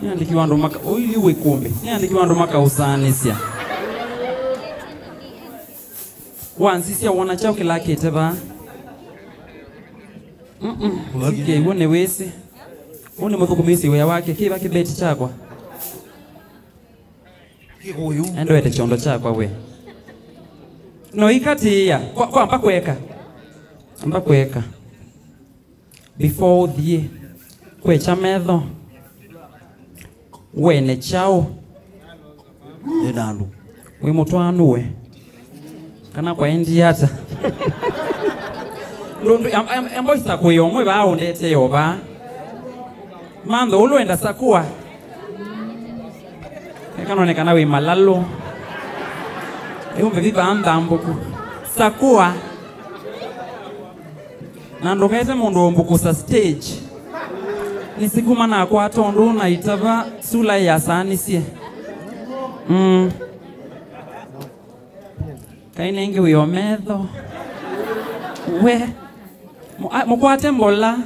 Nĩandĩkiwa andũ maka, ũithi wĩ kũmbĩ. Nĩandĩkiwa andũ makaũsaanĩsya. Wansisya wona kyaũ kĩlakĩte vaa. Mm-mm. Ũthikĩe, w'o nĩwĩsĩ. Ũũ nĩ mũthũkũmĩsye wĩa wake. Kĩva kĩbeti kyakwa? Kĩkũyũ. Endowete kyondo kyakwa we. No ikatĩĩa. Kwa, kwa amba kweka. Amba kweka. Before ũthiĩ. Kwekya metho. Wene kyaũ? Nĩ na andũ. Wĩ mũtwaanu we. Kana kwaendie ata? Ndũndũ, em-, em-, emboisa kũĩ omwe vaa ũndetee o vaa. Mantho ũlũ enda sakũa. Eka none kana wĩ malalũ. Ĩũmbe vivaa nthambũku. Sakũa. Na ndũkete mũndũ ũmbũkũsa stage. Nĩsikuma nakwata ũndũ na itava sula yasaanisye. Mm. Kai nengĩ wĩo metho. We. Mu-, a, mũkwate mbola.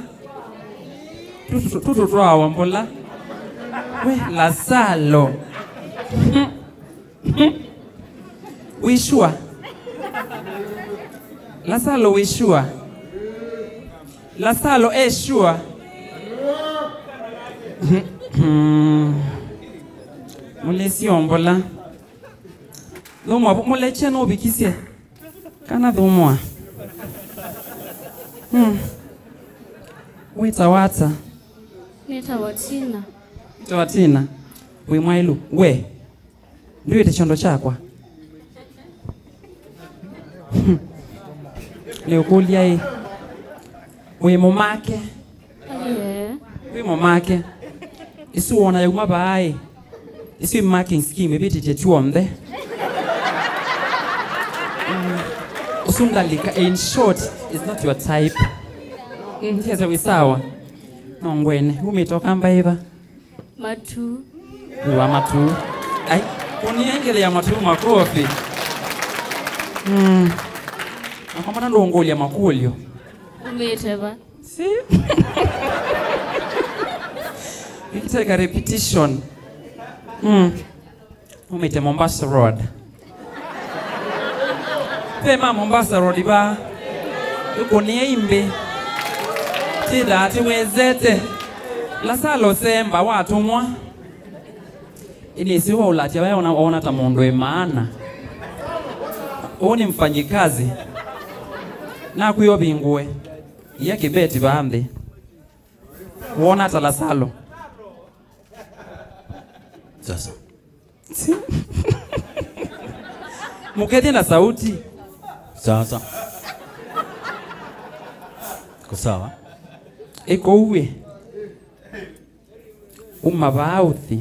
Tũtũ twawa mbola. We, Lasalo. Wĩ sure? Lasalo, wĩ sure? Lasalo e sure? Mũlĩsyo mbola. Thũmũa, mũlekye nũvikisye. Kana thũmũa. Hmm. Wĩtawa ata? Nĩtawa Tina. Wĩtawa Tina. Wĩ mwaĩlu. We. Ndwĩte kyondo kyakwa. Nĩũkũlya ĩ. Wĩ mũmake? Yeah. Wĩ mũmake? Isu wona yauma vaaĩ. Isu i marking scheme ĩvĩtĩtye tyonthe. Mm. Ũsu ndalika, in short, is not your type. Mm, yes, wĩ sawa. No ngwene, umĩte Ũkamba ĩva? Matu. Wa matu. Ai, kũnengele ya matu makofi. Mm. Nakomana ndũngũlya makũlyo. Umĩte va? Si? Ikiteka repetition. Mm. Umĩte Mombasa Road. Ve ma Mombasa Road va. Ĩkũnĩa imbĩ. Tĩthaa tĩwezete. Lasalo Semba watũmwa. Ĩnĩsĩ waũlatya waya ona, ona ta mũndũ ĩ maana. Ũũ nĩ mfanyikazi. Nakwĩa ũvingũe. Ia kĩbeti vaa nthĩ. Wona ta Lasalo. Sasa. Si. Mũkethye na sauti. Sasa. Ko sawa. Ĩkouĩ. Uma vaa ũthi.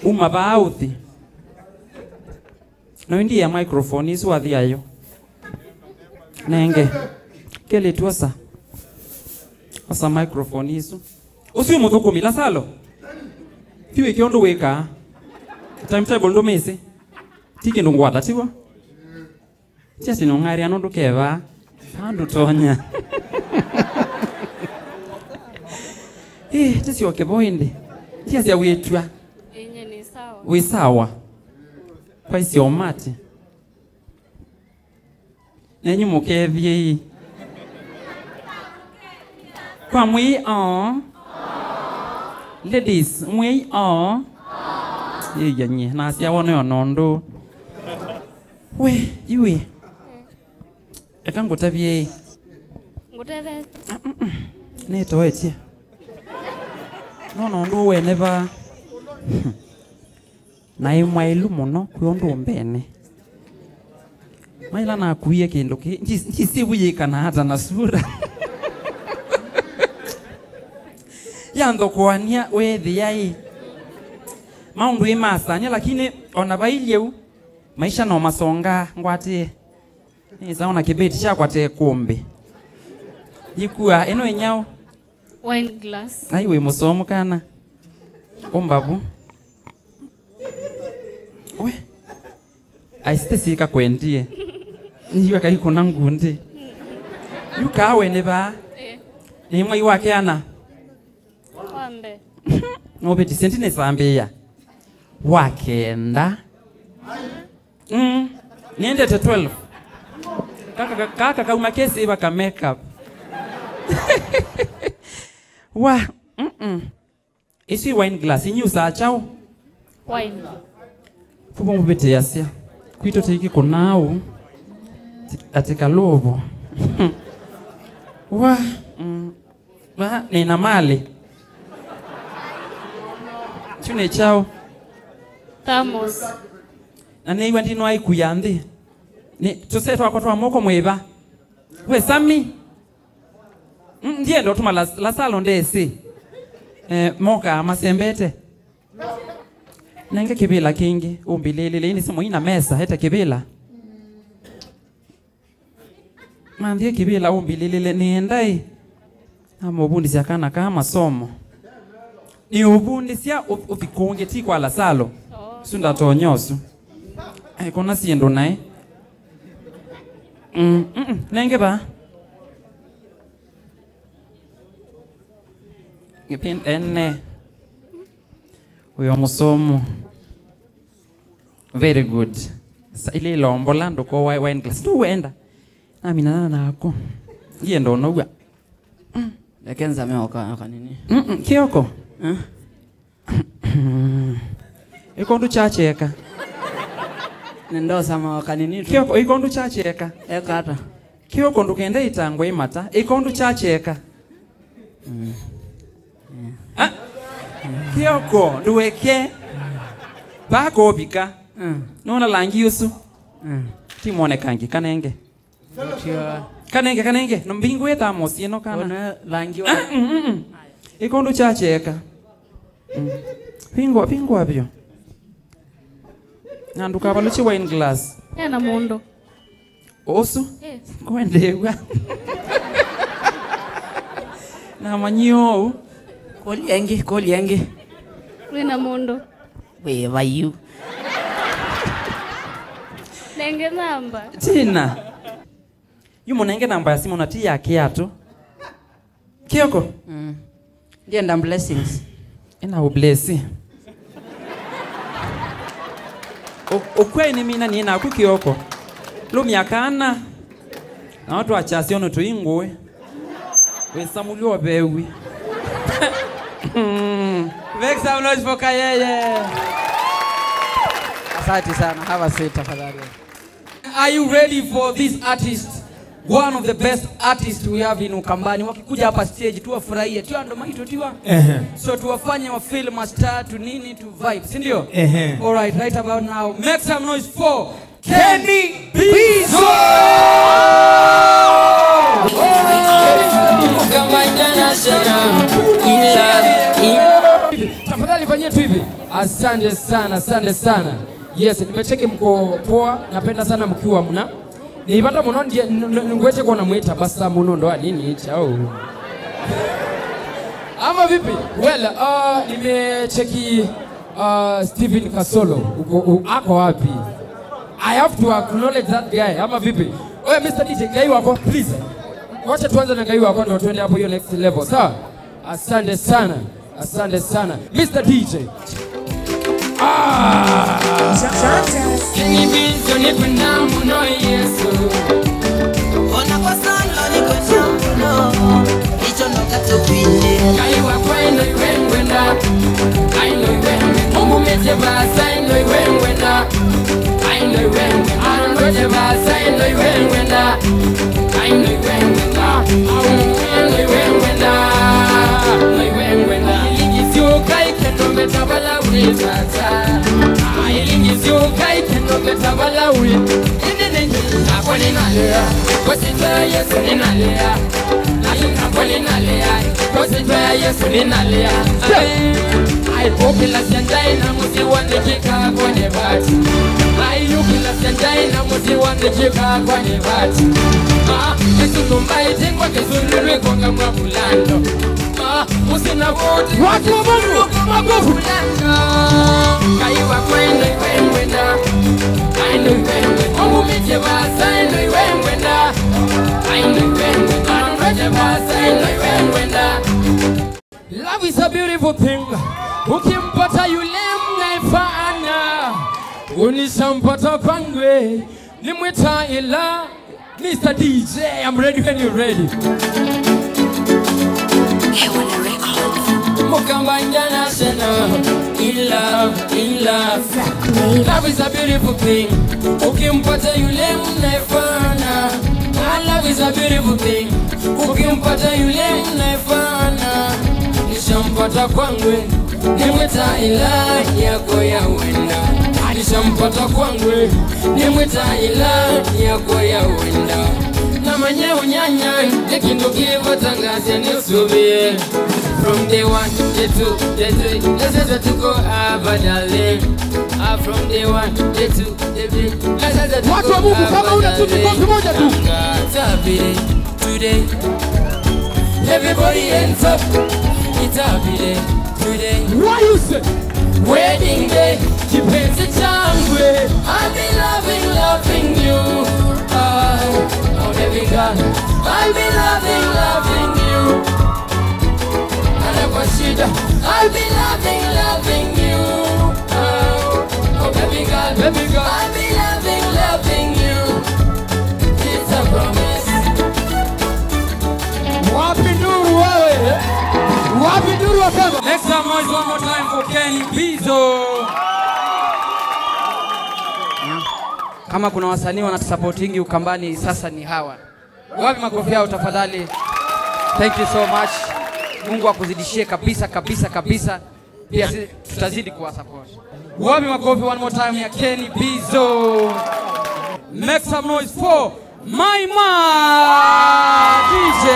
Uma vaa ũthi. No ĩndĩ ya microphone isu wathi ayo. Nenge. Kelĩtu osa. Osa microphone isu. Ũsu mũthũkũmi, Lasalo. Ti wĩke ũndũ wĩkaa. Timetable ndũmĩsĩ. Ti kĩndũ ngwata, tiw'o? Tiasya nũng'aĩrĩa nũndũ kevaa. Kaa ndũtonya. Ĩ, tĩsyoke vo ĩndĩ. Tiasya wĩtw'a. Ĩnyie nĩ sawa. Wĩ sawa. Kwaisye ũmati. Nenyu mũkethie ii. Kwa mwĩi oo. Ladies, mwĩi oo. Yĩya nyie, nasya wone ona ũndũ. We, iwe. Eka ngũtavye ĩ. Ngũtethete. Nĩtoetye. No, no, ũndũ wene vaa. Naĩ mwaĩlu mũno kwĩ ũndũ mbene. Maila nakuie kĩndũ kĩ, ndyĩsĩ wĩyĩkana ata na sura. Yanthokoany'a weethĩa ĩ. Maũndũ ĩ masany'a, lakini ona vailyĩ ũu, maisha no masongaa ngwatĩe. Nĩsa ona kĩbeti kyakwa te kũmbĩ. Yĩkua, ĩno ĩnyaũ? Wine glass. Ai, wĩ mũsomu kana. Ũmbavu. We. Aisite sika kwendie. Niwa kaikuna ngundi. Yu kawe nĩ vaa. Eh. Nĩ mwai wa keana. Wa mbee. Nũvĩtisye ndinĩsambĩĩa. Wa kenda. Mm. Nĩendete twelve. Kaka, kaka kauma kesĩva ka makeup. Wa, mm-mm. Isu i wine glass, inyu saa chao? Wine. Vuvo muvĩtĩasya. Kwitũ tĩiki kũnau. Ati kalũvo. Wa, mm. Va, nĩna malĩ. Kyu nĩ kyaũ? Thermos. Na nĩiw'a ndinwa ikuya nthĩ. Nĩ tũsee twakwa twa moko mwĩva? We Sami. Mm, ndienda ũtuma Las-, Lasalo ndesĩ. Eh, mokaa masembete. Nenge kĩvĩla kĩngĩ, ũmbĩlĩlĩle, ĩĩ nĩ simũ ina mesa, ete kĩvĩla. Manthie kĩvĩla ũmbĩlĩlĩle nĩenda ĩ. Namũvundĩsya kana kaa masomo. Nĩũvundĩsya ũ-, ũthi kũngĩ ti kwa Lasalo. Ũsu ndatonya ũsu. Aikona syĩndũ naĩ. Mm, mm, mm. Nenge vaa. Ene. Ũyo mũsomo. Very good. Sa-, ile ilombola ndũko wa-, wine glass. Tu wenda. Naminana nako. Ndienda ũnow'a. Reke nzame o ka-, o kanini. Mm-mm, Kioko. Eh? Ĩkondu kyakyeeka. Nĩndosama o kanini tu. Kioko, ĩkondu kyakyeeka. Eka ata? Kioko ndũkende ĩtangwa ĩmata. Ĩkondu kyakyeeka. Mm. Ah, Kioko, ndũeke. Vaa kũvika. Mm. Nona langi ũsu. Mm. Ti mwonekangi, kanenge. Kanenge, kanenge. No mbingũe thermos ĩno kana. Ona langi wa- Ah, mm, mm, mm. Ĩkondu kyakyeeka. Mm. Vingũa, vingũa vyo. Na ndũkavalũkye wine glass. Ena mũndũ. Ũsu? Eh. Kwendeew'a. Namanyie ũu. Kũlya ĩngĩ, kũlya ĩngĩ. Wĩna mũndũ? Wĩ vayu. Nenge namba. Tina. Yu mũnenge namba ya simũ na ti ya kĩatũ. Kioko? Mm. Ndienda blessings. Ĩna ũblesi. Ũ-, ũkwai nĩ mina nĩ naku Kioko. Lumya kana. Na watu achasio no tuingwe. Wĩsamũlyo vewi. Make some noise for Kayeye. Asante sana. Have a seat tafadhali. Are you ready for this artist? One of the best artists we have in Ukambani. Wakikuja hapa stage, tuwafurahie. Tiwa ndo maito, tiwa. Ehe. So tuwafanye wa feel mastar, tu nini, tu vibe, si ndio? Ehe. All right, right about now, make some noise for Kenny Bizo! Tafadhali fanyia tu hivi. Asante sana, asante sana. Yes, nimecheki mko poa, napenda sana mkiwa mna. Nĩ vata mũno ndie-, n-, n-, ngwete kuona mwĩta basa mũno ndo anini chao. Ama vipi? Well, uh, nimecheki Uh, Steven Kasolo, uko, u-, ako wapi? I have to acknowledge that guy. Ama vipi? Oya, Mister D J, Ngai wakwa, please. Wacha tuanze na Ngai wakwa ndio tuende hapo hiyo next level. Sawa? Asante sana. Asante sana. Mister D J. Ah! Kenny Beans, nĩkwenda mũno Yesu. Ona kwa sana nĩkwenda mũno. Ngai wakwa, ĩno iwe ngwenda. Ai, no iwe ngwenda. Ũmumĩtye vaasa, ĩno iwe ngwenda. Ai, no iwe ngwenda. Andwete vaasa, ĩno iwe ngwenda. Ai, no iwe ngwenda. Au, no iwe ngwenda. No iwe ngwenda. Ilingi syũka ikendo metavala wĩ tata. Ai, ilingi syũka ikendo metavala wĩ. Ĩndĩ nĩ nakwa nĩnalea. Kwa sita ya Yesu nĩnalea. Nakwa nĩnalea, kwa sita ya Yesu nĩnalea. Ai, ũkĩlasya ndaĩ na mũsyĩ wa nĩkĩkaa kwa nĩ vati. Ai, ũkĩlasya ndaĩ na mũsyĩ wa nĩkĩkaa kwa nĩ vati. Ah, Yesu nũmbaĩte ngwa kĩsũlũlũ ĩkonga mwa vulando. Ah, mũsyĩ na voti. Watu wa Mungu, makofi. Ngai wakwa, ĩno iwe ngwenda. Ai, no iwe ngwenda. Ũmumĩtye vaasa, ĩno iwe ngwenda. Love is a beautiful thing. Ukimpata yule mnaifana, unishampata kwangwe, nimwita ila. Mister D J, I'm ready when you're ready. Mukamba International, in love, in love. Love is a beautiful thing. Ukimpata yule mnaifana. Ah, love is a beautiful thing. Ukimpata yule mnaifana. Nishampata kwangwe. Nimwita ila yako ya wenda. Nishampata kwangwe. Nimwita ila yako ya wenda. Na manye unyanya, nĩ kĩndũ kĩvatangasya nĩ ũsũvĩe. From day one, day two, day three, let's say tuko hapa, darling. Ah, from day one, day two, day three, let's say tuko hapa, darling. Watu wa Mungu, kama una tu, ni kofi moja tu. Happy day today. Everybody hands up. It's happy day today. What you say? Wedding day. Kipenzi changu. I'll be loving, loving you. Ah, oh, baby girl. I'll be loving, loving you. Hata kwa shida. I'll be loving, loving you. Oh, oh, baby girl, baby girl. I'll be loving, loving you. It's a promise. Wapi nduru wewe? Wapi nduru wa kama? Make some noise one more time for Kenny Bizo. Kama kuna wasanii wanatusupportingi Ukambani, sasa ni hawa. Wapi makofi yao tafadhali? Thank you so much. Mungu akuzidishie kabisa, kabisa, kabisa. Pia si, tutazidi kuwa support. Wapi makofi one more time ya Kenny Bizo? Make some noise for my man, D J.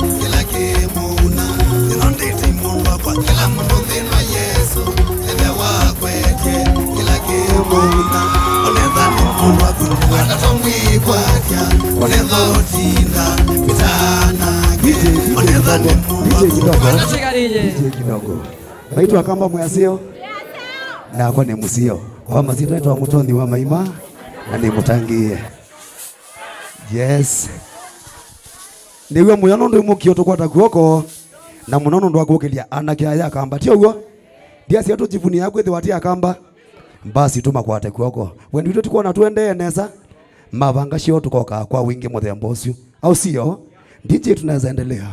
Kĩla kĩmũna, ĩno ndĩti mũndũ wakwa, kĩla mũndũ nthĩna Yesu, ĩthe wakwa. Kweke kĩla kĩmũna, onetha nĩ mũndũ waku, ndũkatatwa mwĩkwatya, onetha ũtinda mĩtaanake, onetha nĩ mũndũ waku, ndũkatatwa D J kidogo. Naitwa Kamba Mwasio. Nakwa nĩ mũsio. Kwa masitwa naitwa Mũtonyi wa Maima, na nĩ mũtangĩĩe. Yes. Nĩw'a mũyo nũndũ mũkio tũkwata kw'oko, na mũno nũndũ wa kũkĩlya anake aya Kamba. Ti ũw'o? Ndiasya tũjivunia kwĩthĩwa ti Akamba. Basi tũmakwate kw'oko. Wendi witũ ti kwona tũendee nesa. Mavanga shoo tũkokaa kwa wingĩ mũthemba ũsu. Au sio? D J, tunaweza endelea.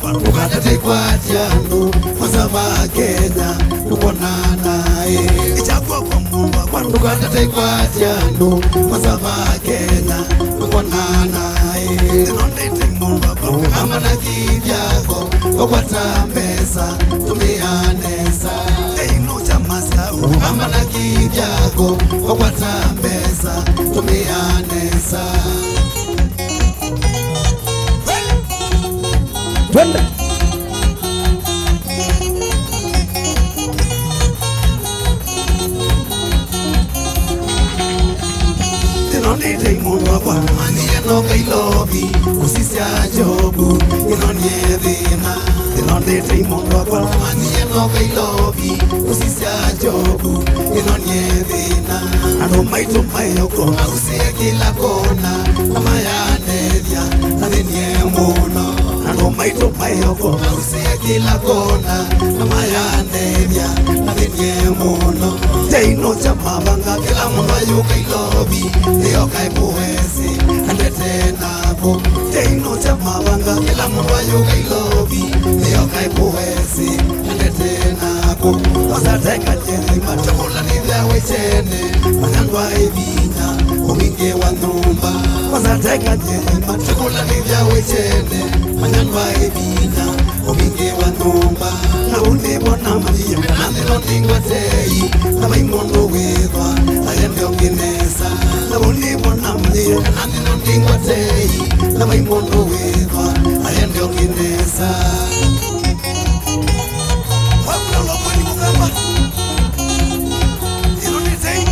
Ndũkatate kwatya andũ, masava Kenya, tũkonana, eh. Ĩkya kw'oko mũndũ wakwa, ndũkatate kwatya andũ, masava Kenya, tũkonana, eh. Ĩno ndĩti mũndũ wakwa, ndũkamba na kĩĩ kyako, ũkwata mbesa, tũmĩa nesa. Ĩno kyama sya ũkamba na kĩĩ kyako, ũkwata mbesa, tũmĩa nesa. Twende. Ĩno nĩ tei mũndũ wakwa, manie no Ngai lovi, kũsisya Jobu, ĩno nĩ thĩna. Ndĩte imondo akwa. Manyie no Kailovi, ũsisya Jobu, ĩno nĩ thĩna. Andũ maitũ maĩ ũko. Mausĩe kĩla kona, na mayandethya, na thĩnie mũno. Andũ maitũ maĩ ũko. Mausĩe kĩla kona, na mayandethya, na thĩnie mũno. Teino kya mavanga, kĩla mũndũ ayũka Ilovi, nĩyo kaĩ kũwesĩ, andete na Kyaino kya mavanga, kĩla mũndũ ayũka Ilovi, nĩyo kaĩ kũwesĩ, andete nako. Kwanza teka nyeni, matukũlanĩthya wĩkyene, manyandwa ĩvinya, ũvingĩ wa nyũmba. Kwanza teka nyeni, matukũlanĩthya wĩkyene, manyandwa ĩvinya, ũvingĩ wa nyũmba. Na ũnĩvona manyie, na nĩno ningwatei, na vai mũndũ wĩthwa, ayende ũngĩ nesa. Na ũnĩvona manyie, na nĩno ningwatei, na vai mũndũ wĩthwa, ayende ũngĩ nesa. Wakula ũlomweni mũkamba. Ĩno nĩ tei.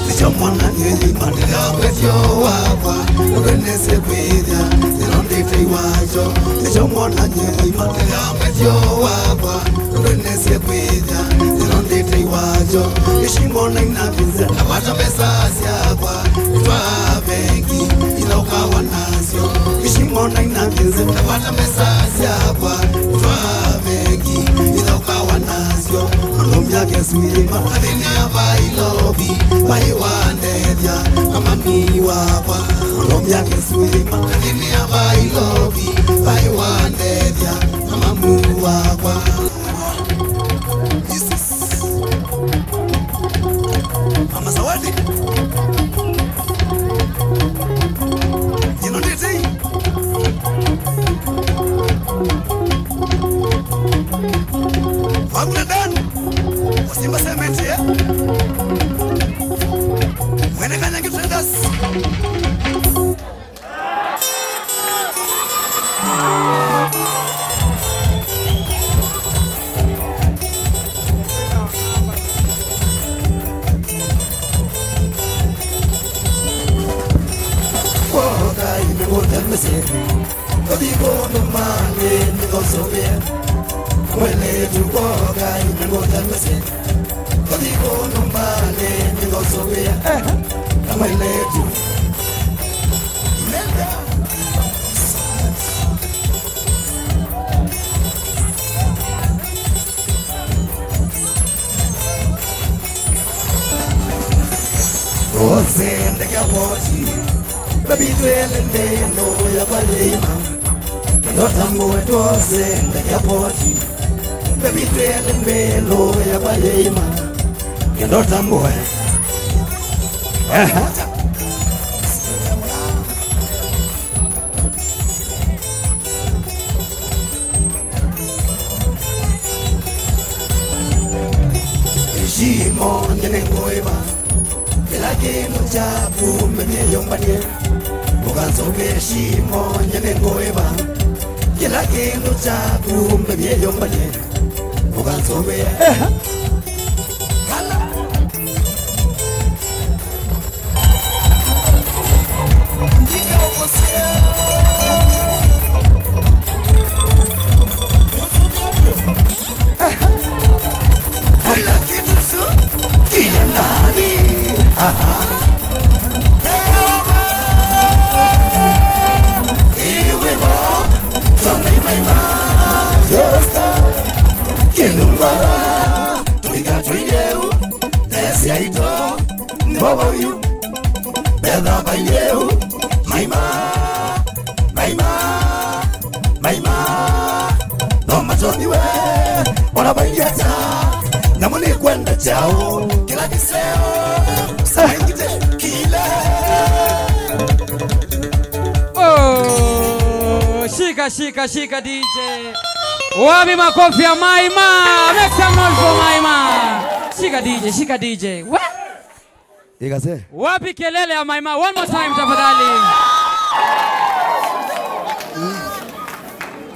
Nĩkyo mwana nyĩima ndĩyambĩtyo wakwa, ũndũ nĩsĩ kwĩthya, ĩno ndĩ tei wakyo. Nĩkyo mwana nyĩima ndĩyambĩtyo wakwa, ũndũ nĩsĩ kwĩthya, ĩno ndĩ tei wakyo. Ishimo na inavinze, nawata mbesa syakwa, itwaa bengi, ila ũkawa nasyo. Ishimo na inavinze, nawata mbesa syakwa, itwaa bengi, ila ũkawa nasyo. Ũndũ myaka ĩsu yĩma, athĩnĩa vai Ilovi, vai wandethya, na mami wakwa. Ũndũ myaka ĩsu yĩma, athĩnĩa vai Ilovi, vai wandethya, na mami wakwa. Mama Zawadi. Ĩno nĩ tei. Wagula Dan. Wasimba Cement, eh? Mwene Kanyangi Traders. Kwoka ime ngũtemesye, ũthi kũndũ mangĩ nĩkosũvĩa. Mwene tu kwoka ime ngũtemesye. Ũthi kũndũ mbalĩ nĩngosũvĩa. Eh. Na mwĩlĩtu. Nenda. Ose ndeke poti. Baby twele ndendo ya kwa yeima. Ndota mwe twose ndeke poti. Baby twende mbelo ya kwa yeima. Kendo tambue. Aha. Shimo nyene ngoiva. Kĩla kĩndũ kyaku mbevye yũmbanie, ũkansũvĩe shimo nyene ngũĩva. Kĩla kĩndũ kyaku mbevye yũmbanie, ũkansũvĩe. Eha. Kala. Kila kitu su, kila nani. Aha. Iwe bo, songa imaima. Yosta, kinungara. Tuiga tuileu, tesi aito, mbobo yu. Betha baileu, maima, maima. Maima, no matoniwe, ona vailiata, namo nĩkwenda kyaũ, kĩla kĩseo, saingite, kile. Oh, shika, shika, shika, D J. Wapi makofi ya Maima? Make some noise for Maima. Shika D J, shika D J. What? Ikase. Wapi kelele ya Maima? One more time, tafadhali.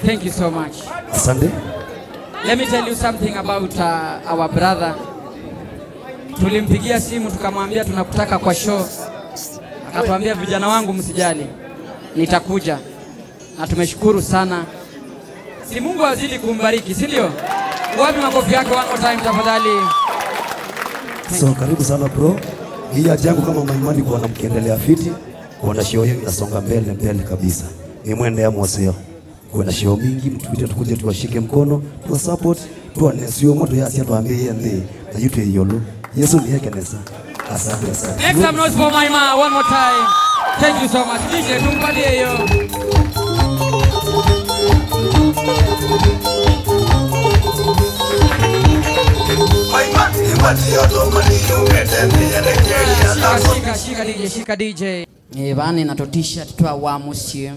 Thank you so much. Asante. Let me tell you something about, uh, our brother. Tulimpigia simu tukamwambia tunakutaka kwa show. Atuambia, "Vijana wangu, msijali. Nitakuja." Na tumeshukuru sana. Si Mungu azidi kumbariki, si ndio? Wapi makofi yake one more time tafadhali? So, karibu sana bro. Hii haja yangu kama maimani kuona mkiendelea fiti, kuona show yenu inasonga mbele, mbele kabisa. Ni mwende ya moseo. Kuona show mingi, mtupite tukuje tuwashike mkono, tuwa support, tuone sio moto ya sia tuambie yende, na yute yolo. Yesu ni yake nesa. Asante, asante. Make some noise for Maima one more time. Thank you so much. D J, tumpatie hiyo. Shika, shika, shika D J, shika D J. Eh, vani na tu t-shirt twa wa mũsyĩ.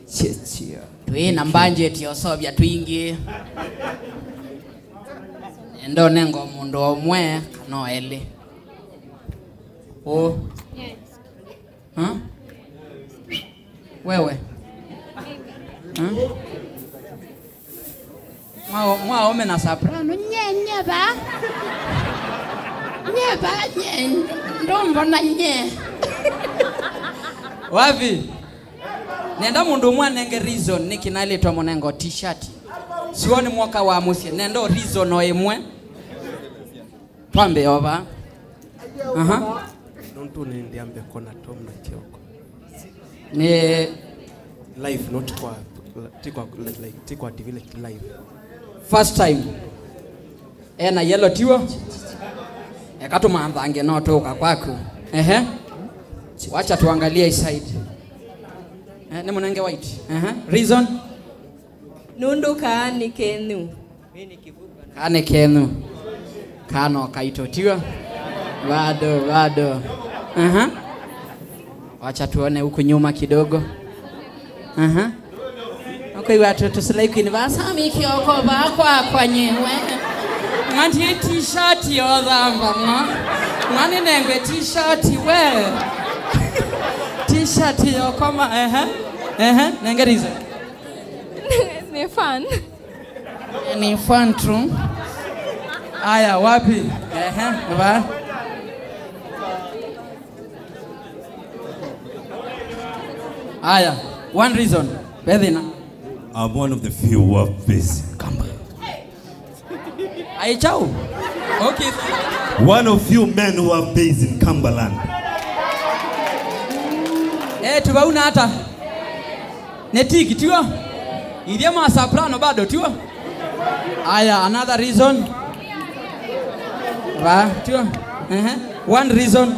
Cheche. Twĩ na budget ya ũseũvya twingĩ. Nenda ũnenga mũndũ ũmwe kana elĩ. Ũ? Huh? Wewe? Huh? Mwa-, mwaũme na soprano, nye, nye va. Nye va, nye, ndombo na nye. Wapi? Nenda mũndũ ũmwe anenge reason nĩkĩ naĩlĩtwe mũnengo t-shirt. Siwoni mwoka wa mũsyĩ, nenda o reason o ĩmwe. Twambe ova. Aha. Nũndũ nĩndĩambe kona Tom na Kioko. Nĩ live, not kwa, ti kwa, like, ti kwa T V, like, live. First time. Ena yellow tiwo. Eka tũmanthange no tũka kwaku. Ehe. Wacha tuangalie hii side. Eh, nĩ mũnenge white. Ehe. Reason? Nũndũ kaa nĩ kenyu. Kaa nĩ kenyu. Kaa no kaitũ, tiwa? Bado, bado. Aha. Wacha tuone huku nyuma kidogo. Aha. Akwĩw'a tũ, tũ slay queen va Sami Kioko va kwakwa nyiwe. Ng'andie t-shirt yothamba mwa. Ng'ani nengwe t-shirt we. T-shirt yokoma, ehe. Ehe, nengerize. Nĩ fan. Ni fan tu. Aya, wapi? Ehe, va. Aya, one reason. Bethina. I'm one of the few who have base in Kampala. Ai, chao. Okay. One of few men who have base in Cumberland. Eh, tubauna hata. Nĩ tiki, tiwa? Ithe ma soprano bado, tiwa? Aya, another reason. Va, tiwa? Ehe. One reason.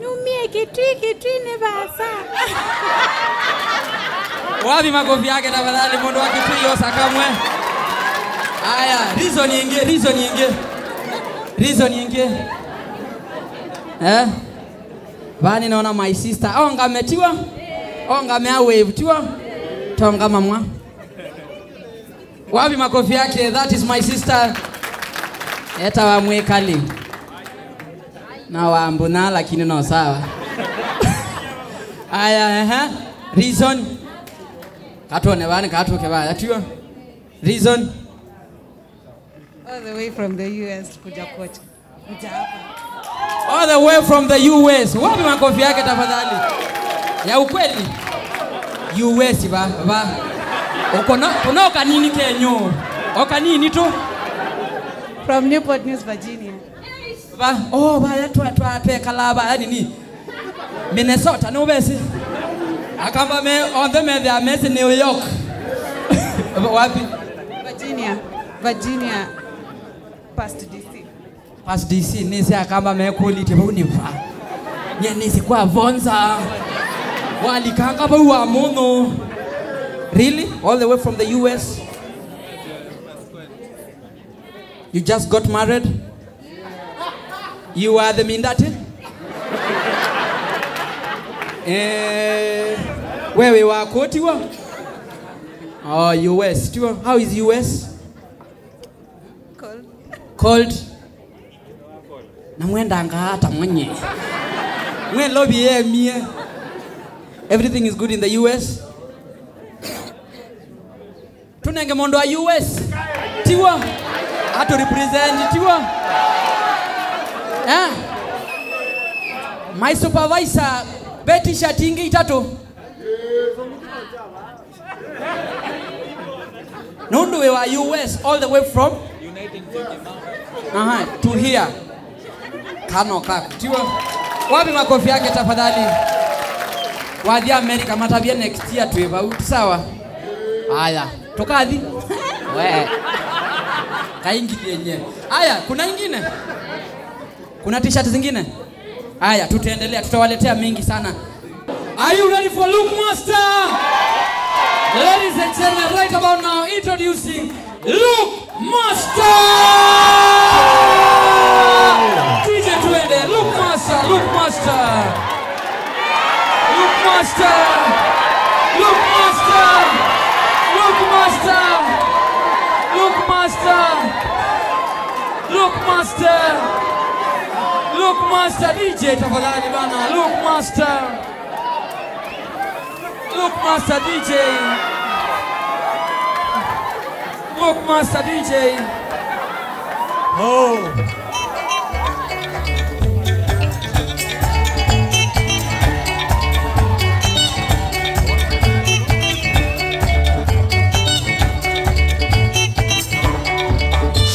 Nyumie Kitui, Kitui nĩ vasa. Wapi makofi yake tafadhali, mũndũ wa Kitui yosa kamwe. Aya, reason ingĩ, reason ingĩ. Reason ingĩ. Eh? Vani naona my sister. Ongame, tiwa? Ongame a wave, tiwa? Tongama mwa. Wapi makofi yake? That is my sister. Etawa Mwikali. Na wambuna, lakini no sawa. Aya, ehe. Reason. Katone vani, katuke vaya, tiwa? Reason. All the way from the U S kuja kocha. Kuja hapa. All the way from the U S. Wapi makofi yake tafadhali? Ya ukweli. U S va, va. Uko no, kuna o kanini kenyu. O kanini tu. From Newport News, Virginia. Va, oh, va, ya twa, twa, twekala va, yani ni. Minnesota, nĩ ũvesi? Akamba me, onthe methĩa mesĩ New York. Wapi? Virginia. Virginia. Past D C. Past D C, nĩsĩ akamba mekũlĩtye vau nĩ va. Nye nĩsĩ kwa Vonza. Walikanga vau wa mũno. Really? All the way from the U S? You just got married? You are the mindati? Eh, wewe wako tiwa? Oh, U S tiwa. How is U S? Cold. Cold. Na mwendanga ata mwenye. Mwe lobby ye mie. Everything is good in the U S. Tunenge mũndũ wa U S. Tiwa. Atu represent tiwa. Eh? My supervisor, ve t-shirt ingĩ itatũ. Nũndũ wĩ wa U S all the way from Aha, to here. Kano kaku. Tiwa. Wapi makofi yake tafadhali? Wathi America matavye next year twĩ vau. Sawa? Aya, tukathi. We. Kaingithie nye. Aya, kuna ingine? Kuna t-shirt zingine? Haya, tutaendelea, tutawaletea mingi sana. Are you ready for Look Master? Ladies and gentlemen, right about now, introducing Look Master! D J twende, Look Master, Look Master. Look Master! Look Master! Look Master! Look Master! Look Master! Look Master, D J tafadhali bana. Look Master. Look Master D J. Look Master D J. Oh.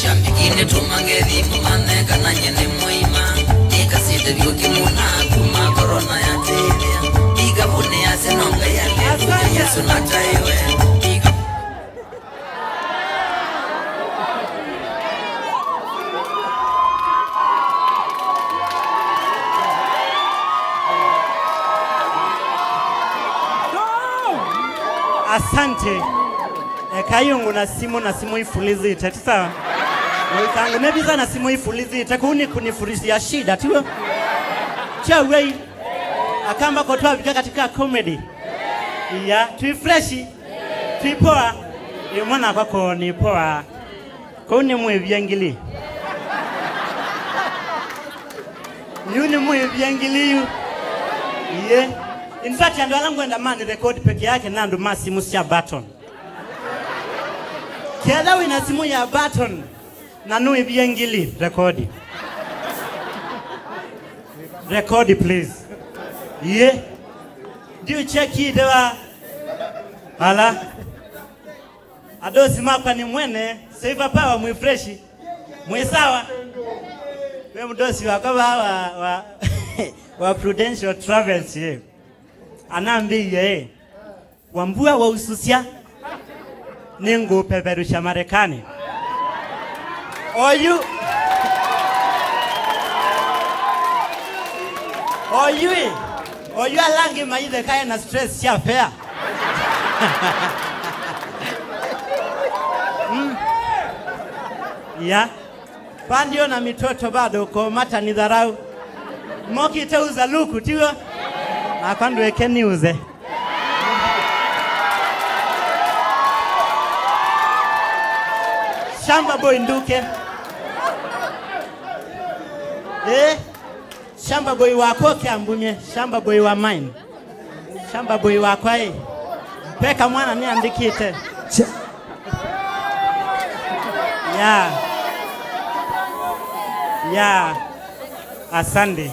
Shambiki nĩtũma ngethi mũmanye kana nye nĩ mũima. Nĩkasĩte vyũ kĩmuna kuma korona yatĩthĩa. Ikavunĩ yasya no Ngai alĩlũya, Yesũ nataĩwe. Ika- Asante. Ekai ũngũna simũ na simũ ifulizĩte, ti sawa? Mũikangu nĩ visa na simũ ifulizĩte, kũu nĩ kunifurizia shida, tiw'o? Tiw'o? Akamba ko twavika katika comedy. Iya, twi fresh, twi poa. Ĩ mwana kwako nĩ poa. Kũu nĩ mwĩvia ngili. Yu nĩ mwĩvia ngili yu. Iye. In fact, andũ ala ngwenda mani record peke yake na andũ ma simũ sya button. Ketha wĩna simũ ya button na nũĩvie ngili, rekodi. Rekodi, please. Iye. Ndiũcheki ĩthe wa. Ala. Adosi makwa nĩ mwene, Saver Power mwĩ fresh. Mwĩ sawa. Ve mdosi wakwa wa, wa, wa, wa Prudential Travels, ye. Anambĩie, eh. Wambua waususya, nĩngũũpeperusya Marekani. Oyu, oyu ĩ, oyu ala angĩ maitheka ena stress sya fare. Mm. Ya. Pandio na mitoto bado, ukomata ni dharau. Mokite uza luku, tiw'o? Nakwa ndweke niuze. Shamba boy nduke. Eh? Shamba boy wakwa ũke ambumye. Shamba boy wa mine. Shamba boy wakwa ĩ. Peka mwana nĩandĩkĩte. Cha- Ya. Ya. Asante.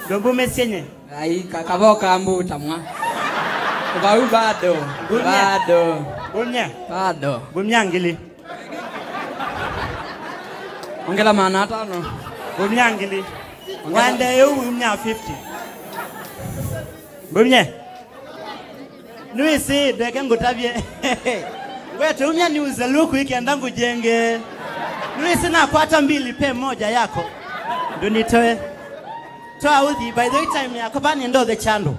Ndombo mesenye. Ai, ka-, kavao ka mbuta mwa. Vau bado. Ngumya. Bado. Ngumya. Bado. Ngumya ngili. Ongela maana atano. Ngumya ngili. Ongela. Wande yu ngumya fifty. Ngumye. Nĩwĩsĩ, ndeke ngũtavye. Ngwete umya niuze luku ikenda ngũjenge. Nĩwĩsĩ nakwata mbili pe moja yako. Ndũnitoe. Toa uthi, by the way time yako, vani ndothe chandu.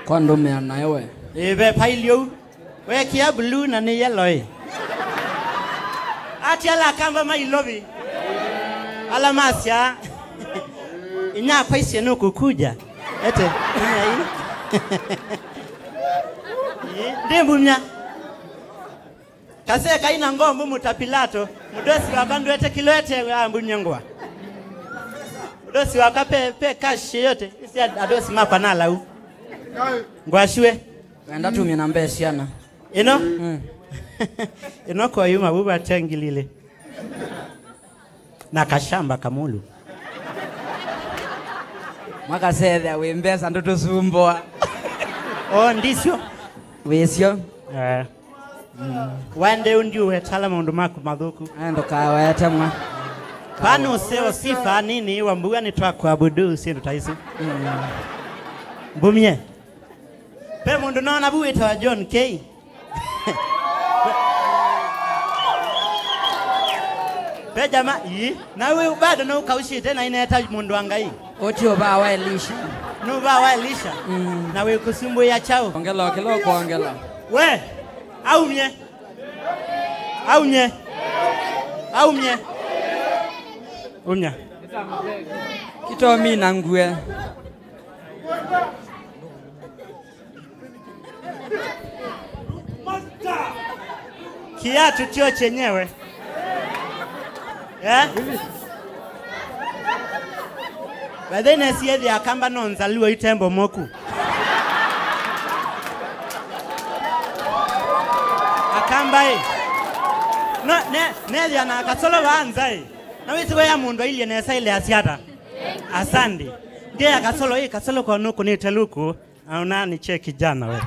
Kwa ndũmĩa nayo we. Ĩve pailio. Wekia blue na nĩ yellow ĩ. Ati ala akamba ma Ilovi. Ala masya. Inyakwa isye nũkũkuja. Ete, inya ii. Ĩ, ndĩ mbumya. Kase kaina ngombo mũta Pilato. Mũdosi wakwa ndwete kilo ete ambumya ngwa. Mũdosi wakwa pe, pe cash yote. Isi adosi makwa na lau. Ngwashue. Enda tumie namba ya syana. Ĩno? Mm. Ĩno koyuma vuva tengilile. Na kashamba kamulu. Mwakasethea wĩ mbesa ndũtũsumbũa. O, ndisyo. Wĩsyo. Eh. Waende ũndi ũwetala maũndũ maku mathũku. Eh, ndũkawete mwa. Vanu ũseo sifa nini wa mbuga nĩ twa kuabudu syĩndũ ta isu. Mbumie. Pe mũndũ naona vu wĩtawa John K. Pe jama, ii. Na we bado no ukaushite na ineta mũndũ wa Ngai. Ũti ũvaa wa Elisha. Nũvaa wa Elisha. Mm. Na wĩkũsumbũĩa kyaũ? Ongela kĩla ũkwongela. We, aumye. Aumye. Aumye. Umya. Kitomina ngue. Kiatu kyo chenyewe. Eh? By the way, nesiethĩa Akamba no nzalua itembo moku. Akamba ĩ. No, ne, nethĩa na kasolo vaa nza ĩ. Na wĩsĩ we ya mũndũ ailyĩ nesa ile asiata. Asante. Ndiye ya kasolo ĩ, kasolo kwa nuku nĩ teluku. Aona ni che kijana we.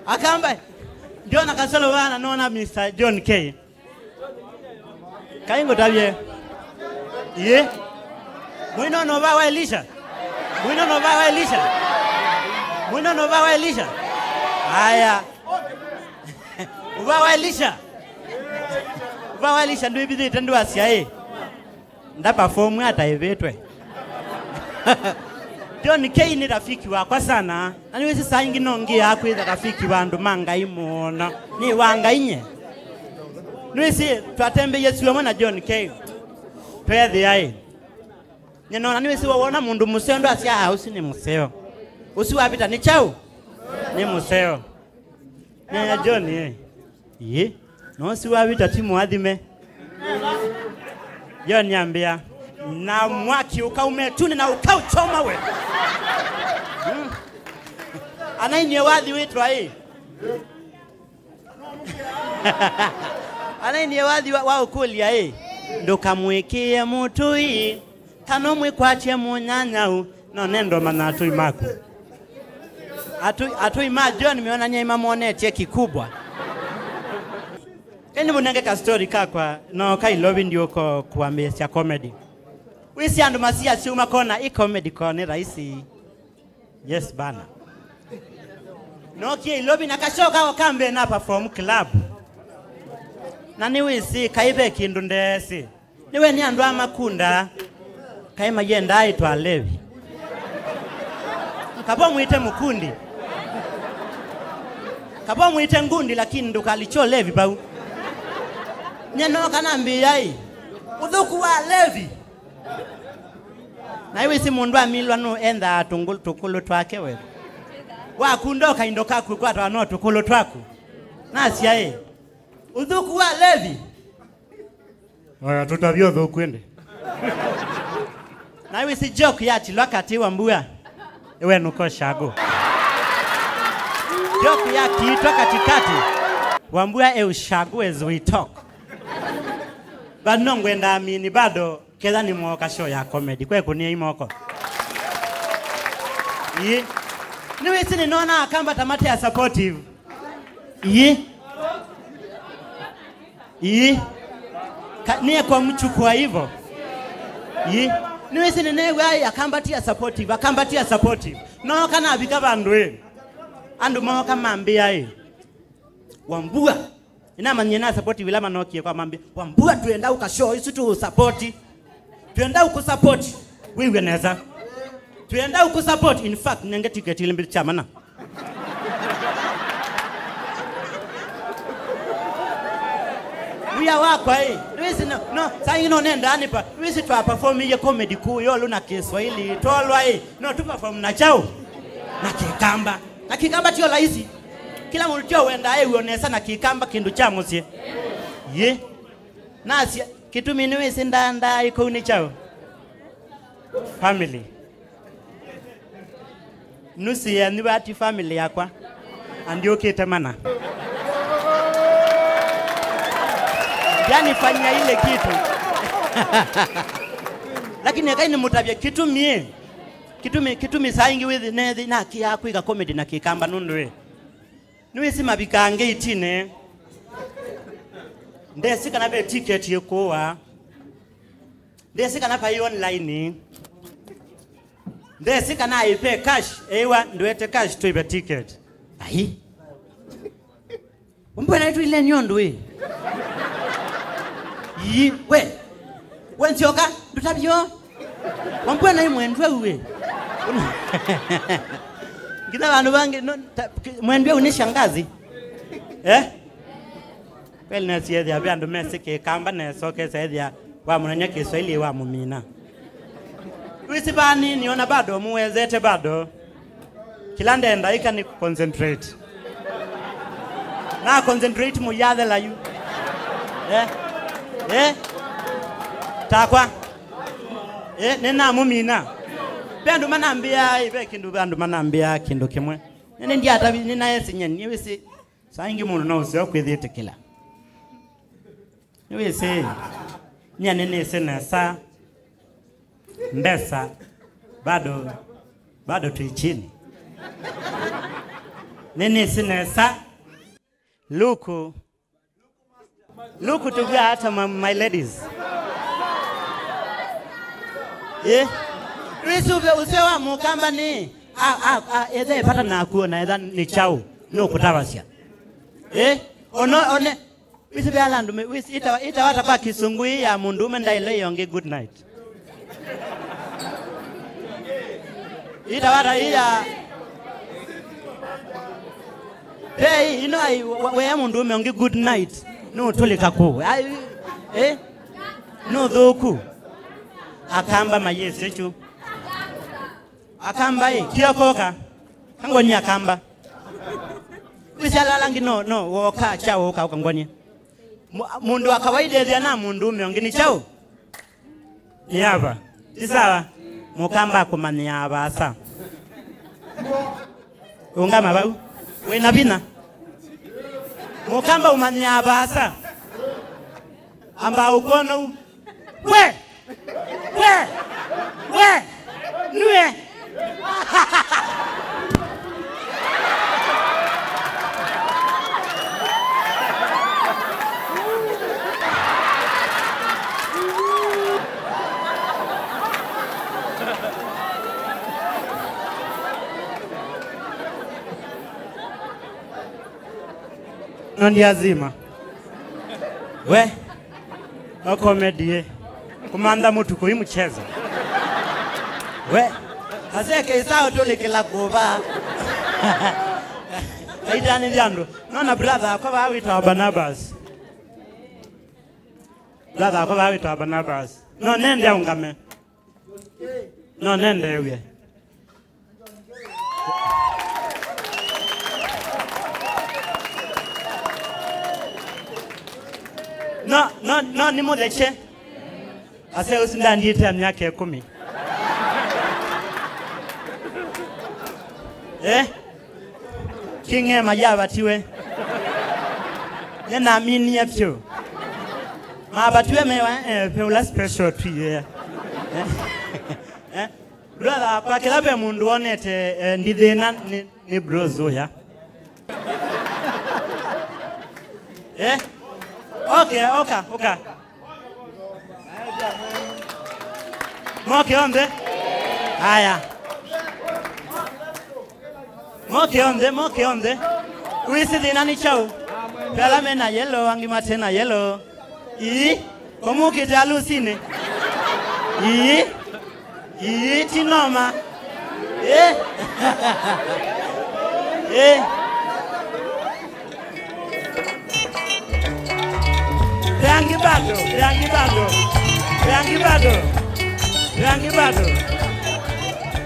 Akamba, ndiona kasolo vana, naona Mister John K. Kaingũtavye. Ye. Mwino no va wa Elisha. Mwino no va wa Elisha. Mwino no va wa Elisha. Aya. Uva wa Elisha. Uva wa Elisha ndwĩvithĩte ndwasya ĩ. Ndaperform ata ĩvĩtwe. John K nĩ rafiki wakwa sana. Na nĩwĩsĩ saa ingĩ no ngĩaa kwĩtha rafiki wa andũ ma Ngai mũno. Nĩ wa Ngai nye. Nĩwĩsĩ twatembeie syũa mwe na John K. Tweethĩa ĩ. Nĩnona nĩwĩsĩ wawona mũndũ mũseo ndwasya, "Ah, ũsu nĩ mũseo. Ũsu wavita nĩ kyaũ? Nĩ mũseo." Nenya John, eh. Ĩĩ. No ũsu wavita ti mũathime. John ambĩa, "Na mwaki ũkauma ĩtunĩ na ũkaũchoma we." Mm. Anainie wathi wĩtwa ĩ. Anainie wathi wa, wa ũkũlya ĩ. Ndũkamwĩkĩe mũtũi, kana ũmwĩkwatye mũnyanyau. No nendo mana atũi maku. Atũi, atũi ma John meonany'a imamonetye kikubwa. Ĩndĩ mũnenge ka story kakwa, no ka Ilovi ndiũko kuambĩĩsya comedy. Wĩsĩ andũ masiasya makona ĩ comedy ko nĩ rahisi. Yes bana. Nokie Ilovi na kasyoka okambe na perform club. Na nĩwĩsĩ kaĩ ve kĩndũ ndeesĩ. Nĩwe nĩ andũ a makunda, kaĩ mayendaa ĩtwa alevi. Kavo mwĩte mũkundi. Kavo mwĩte ngundi, lakini ndũkalikye ũlevi vau. Nye nooka nambĩĩa ĩ, ũthũku wa alevi. Na ĩwĩsĩ mũndũ amilwa nũ endaa tũngũ-, tũkũlũ twake we. Wakunda o kaindo kaku kwatawa no tũkũlũ twaku. Nasya ĩ, ũthũku wa alevi. Oya, tũtavye ũthũku ĩndĩ. Na wĩsĩ joke yatilwa katĩ wa mbua. Ĩwe nũko shago. Joke yakiitwa katikati. Wa mbua e ushago as we talk. But no ngwenda amini bado ketha nĩ mwoka show ya comedy. Kwe kũnia imoko. Ii. Nĩwĩsĩ nĩnona Akamba ta mate a supportive. Ii. Ii. Ka-, niye kwa mchukua hivyo. Ii. Nĩwĩsĩ nĩneew'a ĩ, Akamba ti a supportive, Akamba ti a supportive. No kana avika vandũ ĩ. Andũ mooka mambĩa ĩ. Wambua. Inamanyie na supportive ila manokie kwa mambĩa. Wambua twenda ũka show isu tu support. Twenda ũkũ support. Wĩw'e nesa. Twenda ũkũ support. In fact, nenge ticket ile mbili cha mana. Wia wakwa ĩ. Nĩwĩsĩ no, no, saa ingĩ no nenda anipa. Nĩwĩsĩ twa perform iye comedy kuu yolo na Kiswahili. Tolwa ĩ. No tu perform na chao. Na Kikamba. Na Kikamba tio laisi. Kila mũndũ tio wenda ĩ wĩo nesa na Kikamba kĩndũ cha mũsyĩ. Ye. Nasya, kĩtumi nĩwĩsĩ ndandaa ĩkũu nĩ kyaũ? Family. Nusu yenyu vati family yakwa. Andiũkĩte mana. Ndanifanyia ile kitu. Lakini ekai nĩmũtavye kĩtumi, ĩ. Kĩtumi, kĩtumi saa ingĩ wĩthĩ nethi nakĩaa kwĩka comedy na Kĩkamba nũndũ, ĩ. Nĩwĩsĩ mavikaa ngeitine. Ndesĩ kana ve ticket ĩkũwa. Ndesĩ kana vai online. Ndesĩ kana aĩ ve cash, eĩwa ndwete cash tũive ticket. Ai. Wambua naĩ tũile nĩ ũndũ ĩ. Ii, we. We nzyoka, ndũtavyo. Wambua naĩ mwendwa ũu ĩ. Nginya vandũ vangĩ, no, ta, mwendwa ũu nĩ shangazi. Eh? Kweli nesi ethĩa ve andũ mesĩ Kĩkamba nesa ũkesa ethĩa wamũnany'a Kĩswaili wamũmina. Wĩsĩ vani nĩona bado mũwezete bado. Kĩla ndenda ĩka nĩ concentrate. Na concentrate mũyathela yu. Eh? Eh? Takwa. Eh, nĩnamũmina. Ve andũ manambĩa, ve kĩndũ, ve andũ manambĩa kĩndũ kĩmwe. Nĩnĩ ndiatavi, nĩnaesinya, nĩwĩsĩ. Saa ingĩ mũndũ no ũseo kwĩthĩtĩkĩla. Nĩwĩsĩ, nyie nĩnĩsĩ nesa mbesa bado, bado twĩ chini. Nĩnĩsĩ nesa. Luku. Luku tũvw'a ata, my, my ladies. Eh? Wĩsĩ ũseo wa Mũkamba nĩ, a, a, a, ethe epata naku ona etha nĩ kyaũ, nũkũtavasya. Eh? Ono, one, wĩsĩ ve ala andũ me, wĩsĩ, ĩtawa, ĩtawa ata kwa Kĩsũngũ ĩ ya mũndũũme ndaĩle ĩyo ĩngĩ good night. Ĩtawa ata ĩ ya, ve ĩ, ĩno ai, wa, wea mũndũũme ũngĩ good night, nũtũlĩka kũũ. Ai, eh? Nũthũku. Akamba mayĩsĩ kyu. Akamba ĩ, kia koka. Kangoni Akamba. Wĩsĩ ala ala angĩ no, no, woka, kya woka, ũkangoni. Mu-, mũndũ wa kawaida ethĩa na mũndũũme ũngĩ nĩ kyaũ? Nĩ ava. Ti sawa. Mũkamba akũmanyĩaa vaasa. Ũngama vau. Wĩna vinya. Mũkamba ũmanyĩaa vaasa. Amba ũkonou. We! We! We! Nue! No ndiazima. We. No comedy, eh. Kũmantha mũtu kũi mchezo. We. Aseke isaũ tũlĩkĩla kũva. Aitanĩthya andũ. Nona brother akwa vaa wĩtawa Barnabas. Brother akwa vaa wĩtawa Barnabas. No nende aũngame. No nendeew'e. No, no, no, nĩmũthekye. Ase ũsu ndandiĩte myaka ĩkũmi. Eh? King'ema yavatiwe. Nĩnaminie vyũ. Mavatiwe mewa, eh, ve ũla special tu, yeah. Eh? Eh? Brother wakwa, kĩla ve mũndũ wonete, eh, ndithĩna nĩ, nĩ bros ũya. Eh? Okay, oka, oka. Moke onthe. Aya. Moke onthe, moke onthe. Wĩsĩ thĩna nĩ kyaũ? Ve ala me na yellow, angĩ mate na yellow. Ii, ũmũkĩte alusinĩ. Ii, ii, ti noma. Ĩ. Ĩ. Ve angĩ bado, ve angĩ bado, ve angĩ bado, ve angĩ bado,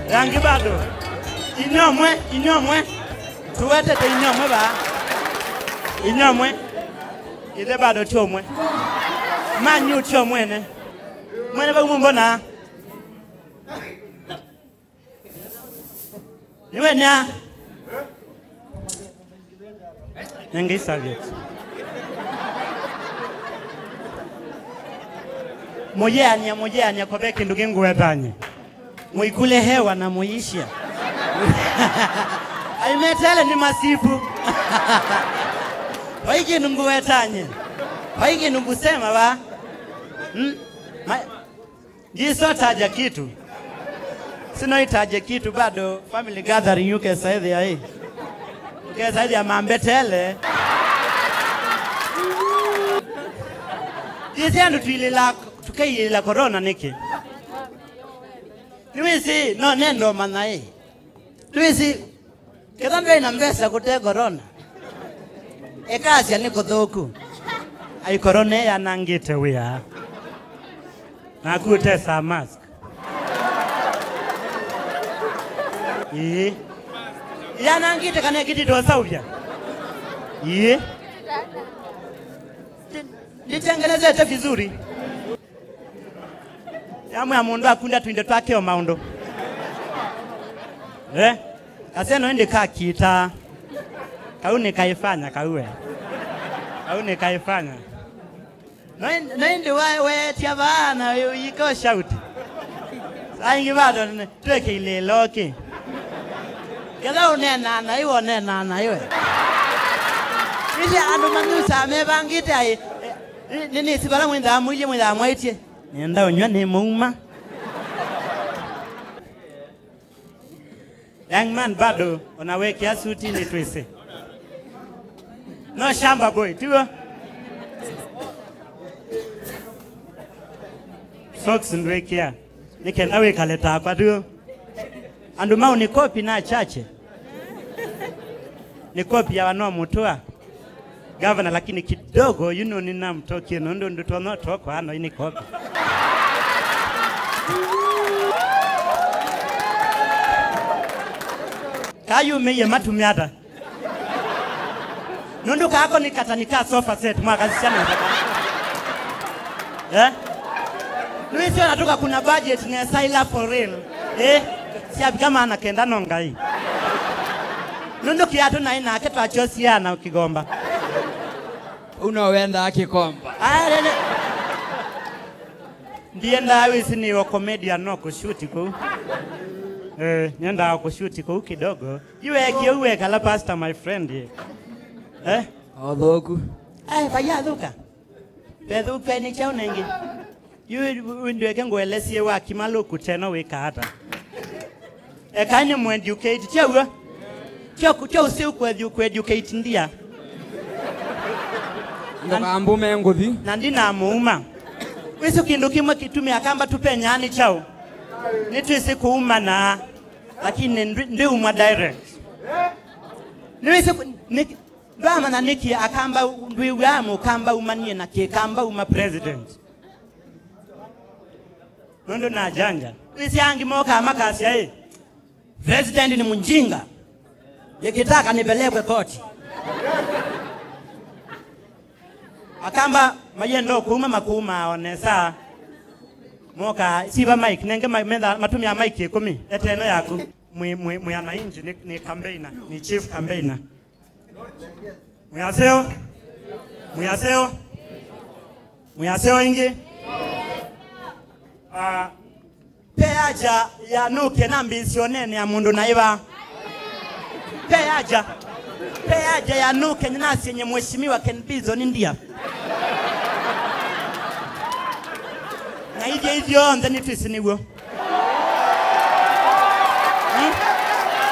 ve angĩ bado. Inyuĩ amwe, inyuĩ amwe. Tũwetete inyuĩ amwe vaa. Inyuĩ amwe. Ithe bado ti ũmwe. Manyu ti ũmwe ene. Mwene vau mũmbona. Nĩwe nĩa. Nengei serviette. Mũyĩanĩa, mũyĩanĩa, ko ve kĩndũ kĩ ngũwetany'e. Mũikule hewa na mũyĩsya. Aimetele nĩ masipu. Vai kĩndũ ngũwetany'e. Vai kĩndũ ngũsema va. Hmm? Ma-, ndisotaja kitu. Sinoitaje kitu bado. Family gathering, ũkesa ĩthĩa ĩ. Ũkesa ĩthĩa mambetele. Ndĩsĩ andũ tũilĩla, tũkeilĩla corona nĩkĩ? Nĩwĩsĩ, no nenda ũmanya ĩ. Nĩwĩsĩ, ketha ndwĩ na mbesa kũte corona. Ĩkasya nĩ kũthũku. Ai, corona ĩyanangĩte wĩa. Naku ũtesa mask. Ĩĩ. Yanangĩte kana ĩkĩtĩtwe sauvya? Ĩĩ. Ndi-, nditengenezete vizuri. Yamwĩa mũndũ akunda tũindo twake o maũndũ. Eh? Kaseno ĩndĩ kakita. Kau nĩkaifanya kau we. Kau nĩkaifanya. Na ĩndĩ, na ĩndĩ wa-, weetya vaa na ũyĩka ũshauti. Saa ingĩ bado nĩ-, twĩkĩile ĩloki. Ketha ũneenaa na iwe, ũneenaa na iwe. Ĩndĩ andũ manyusaa mevangĩte aĩ, eh, nĩ, nĩ, nĩsĩ vala mwĩthaa mũilye, mwĩthaa mwaĩtye. Nĩenda ũnyw'a nĩ mũuma. Young man bado, ona wekĩa suti nĩ twĩsĩ. No shamba boy, tiw'o? Socks ndwĩkĩa. Nĩ kenda wĩkale takwa, tiw'o? Andũ mau nĩ kopi na chache. Nĩ kopi ya wano mũtũa. Gavana, lakini kidogo, you know, ninamtokie nũndũ ndũtonya ũtokwa ano ini kopi. Kayumĩie matumya ata? Nũndũ kako nĩ katani ka sofa set mwakasisya nesa. Eh? Nĩwĩsĩ ona tũkakuna budget nesa ila for real. Eh? Syavika maana kenda no Ngai. Nũndũ kĩatũ naĩ nake twakyosie na kĩgomba. Ũu no wendaa kĩkomba. Aya, lele. Ndiendaa wĩsĩ nĩ o comedian no kũshuti kũu. Eh, nyendaa kũshuti kũu kidogo. Iwe kĩu wekala pastor, my friend. Eh? Othoku. Ai, vayathũka. Vethũka nĩ kyaũ nengĩ? Yu ndweke ngũelesie wa kimalũku teno wĩka ata? Eka nĩ mũ educate, tyo w'o? Tyo, tyo ũsĩ ũkũ edu-, kũ educate ndia. Ndũkambume ngũthi. Na ndinamũuma. Wĩsĩ kĩndũ kĩmwe kĩtumĩa Akamba tũpenyaa nĩ kyaũ? Nĩtwĩsĩ kũumana, lakini ndĩ-, ndiuma direct. Nĩwĩsĩ kũ-, nĩ-, ndwamanya nĩkĩ Akamba, ndwĩw'aa Mũkamba umanie na Kĩkamba uma president? Nũndũ najanja. Wĩsĩ angĩ mokaa makasya ĩ, "President ni mjinga. Nikitaka nipelekwe koti." Akamba mayenda kũuma makũumaa o nesa. Moka, siva mic, nenge ma-, metha, matumĩa mic ĩkũmi, eteno yaku. Mwi, mwi, mwi ananchi, ni, ni campaigner, ni chief campaigner. Mwĩaseo? Mwĩaseo? Mwĩaseo ĩngĩ? Ah, pe aja ya nũke na mbĩsĩ onene ya mũndũ na ĩva. Pe aja. Pe aja ya nũke nĩnasyenye mheshimiwa Ken Bison ndia. Na ithyĩ ithyonthe nĩtwĩsĩ nĩw'o. Hmm?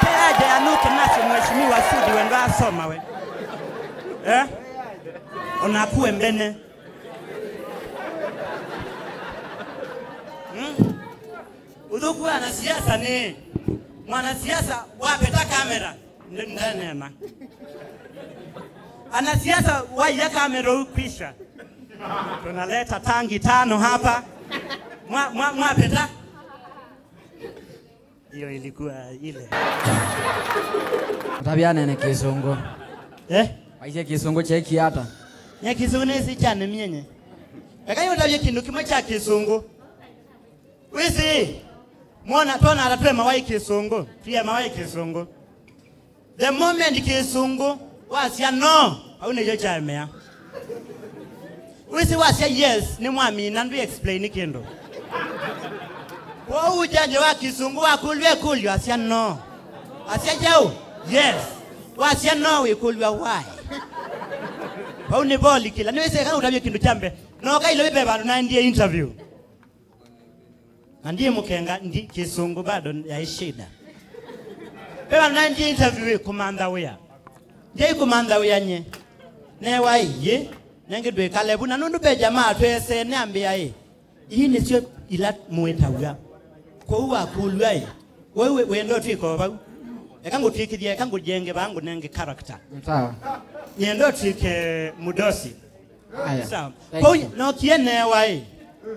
Pe aja ya nũke nasye mheshimiwa Sudi wendo asoma we. Eh? Onaku we mbene. Hmm? Ũthũku wa anasiasa nĩ mwanasiasa wapeta kamera. Ndi-, ndanena. Anasiasa waiya kamera ukwisha. Tunaleta tangi tano hapa. Mwa, mwa, mwapeta. Hiyo ilikuwa ile. Ũtavya nene Kĩsũngũ. Eh? Waisye Kĩsũngũ kyekie ata? Nye Kĩsũngũ nĩsĩ kyane myenye. Eka yũtavye kĩndũ kĩmwe kya Kĩsũngũ. Wĩsĩ, mwona, twona ata twemawa ĩ Kĩsũngũ, twĩemawa ĩ Kĩsũngũ. The moment Kĩsũngũ wasya no, au nĩkyo kyaemea. Wĩsĩ wasya yes, nĩ mwamina, ndwĩ explain kĩndũ. Kwoou judge wa kĩsũngũ wakũlw'a ĩkũlyo, asya no. Asya kyaũ? Yes. Wasya no, wĩkũlw'a why. Vau nĩ volikĩla. Nĩwĩsĩ eka ũtavye kĩndũ kya mbee. No kailo ve vandũ naendie interview. Na ndiĩ mũkenga, ndi kĩsũngũ bado yaĩ shida. Ve vandũ naendie interview ĩ kũmantha wĩa. Ndiĩ kũmantha wĩa nye. Newa ĩyĩ, nengĩ ndwĩkale vu. Na nũndũ ve jamaa tweesene ambĩa ĩ, ii nĩsyo ila mũĩtaw'a. Kwoou wakũlw'a ĩ, we wĩ-, wĩenda ũtwĩka o vau? Eka ngũtwĩkĩthya, eka ngũjenge vaa ngũnenge character. Sawa. Nĩenda ũtwĩke mũdosi. Aya. Sawa. Thank you. Kwoou nokie newa ĩ,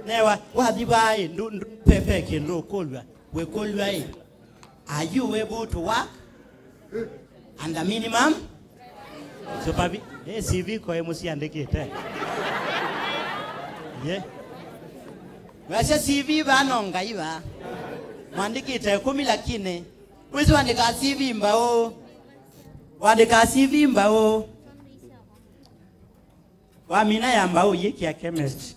newa, wathi vaa ĩ, ndu-, ndu-, pe, pe kĩndũ ũkũlw'a, wĩkũlw'a ĩ, are you able to work under minimum? Supervi-, eh, C V koe mũsiandĩkĩte. Ye. Wasya C V vaa no Ngai vaa. Mwandĩkĩte ĩkũmi lakini. Wĩsĩ wandĩkaa C V mbaũ. Wandĩkaa C V mbaũ. Wamina ya mbaũ ũyĩkĩa chemist.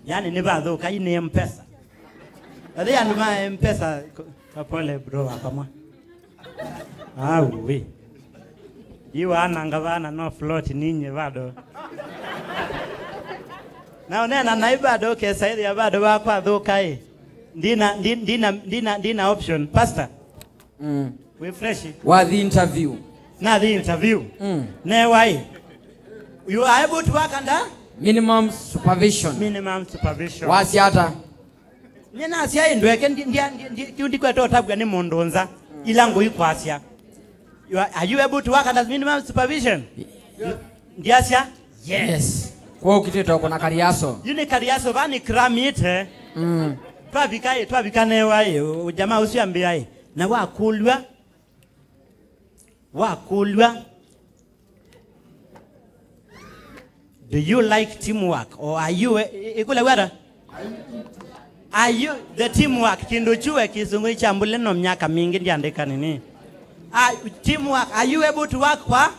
Yani nĩvathũka, ii nĩ Mpesa. Athĩ andũ ma Mpesa, ko-, kapole bro wakwa mwa. Au we. Ii waananga vana no float ninyi bado. Na ũneena naĩ bado ũkesaĩthĩa bado vakwathũka ĩ. Ndina, ndi-, ndina, ndina, ndina option. Pastor. Mm. Wĩ fresh. Wathi interview. Nathi interview. Mm. Newa ĩ. You are able to work under? Minimum supervision. Minimum supervision. Wasya ata? Nye nasya ĩ ndweke ndi-, ndia-, ndi-, ndi-, kĩu ndikweta ũtavw'a nĩ mũndũ nza. Ila ngũi kwasya. You are, are you able to work under minimum supervision? Ndiasya? Yes. Yes. Kwa ũkitĩte kũna kariaso. Yu nĩ kariaso, va nĩ kramite. Mm. Twavika ĩ, twavika newa ĩ, ũ-, jamaa ũsu ambĩa ĩ. Na wakũlw'a, wakũlw'a, do you like teamwork or are you, ĩ-, ĩ-, ĩkũlya wata? Are you the teamwork? Kĩndũ kyu we kĩsũngũ kyambũle no myaka mingĩ ndiandĩka nini. Ah, teamwork, are you able to work kwa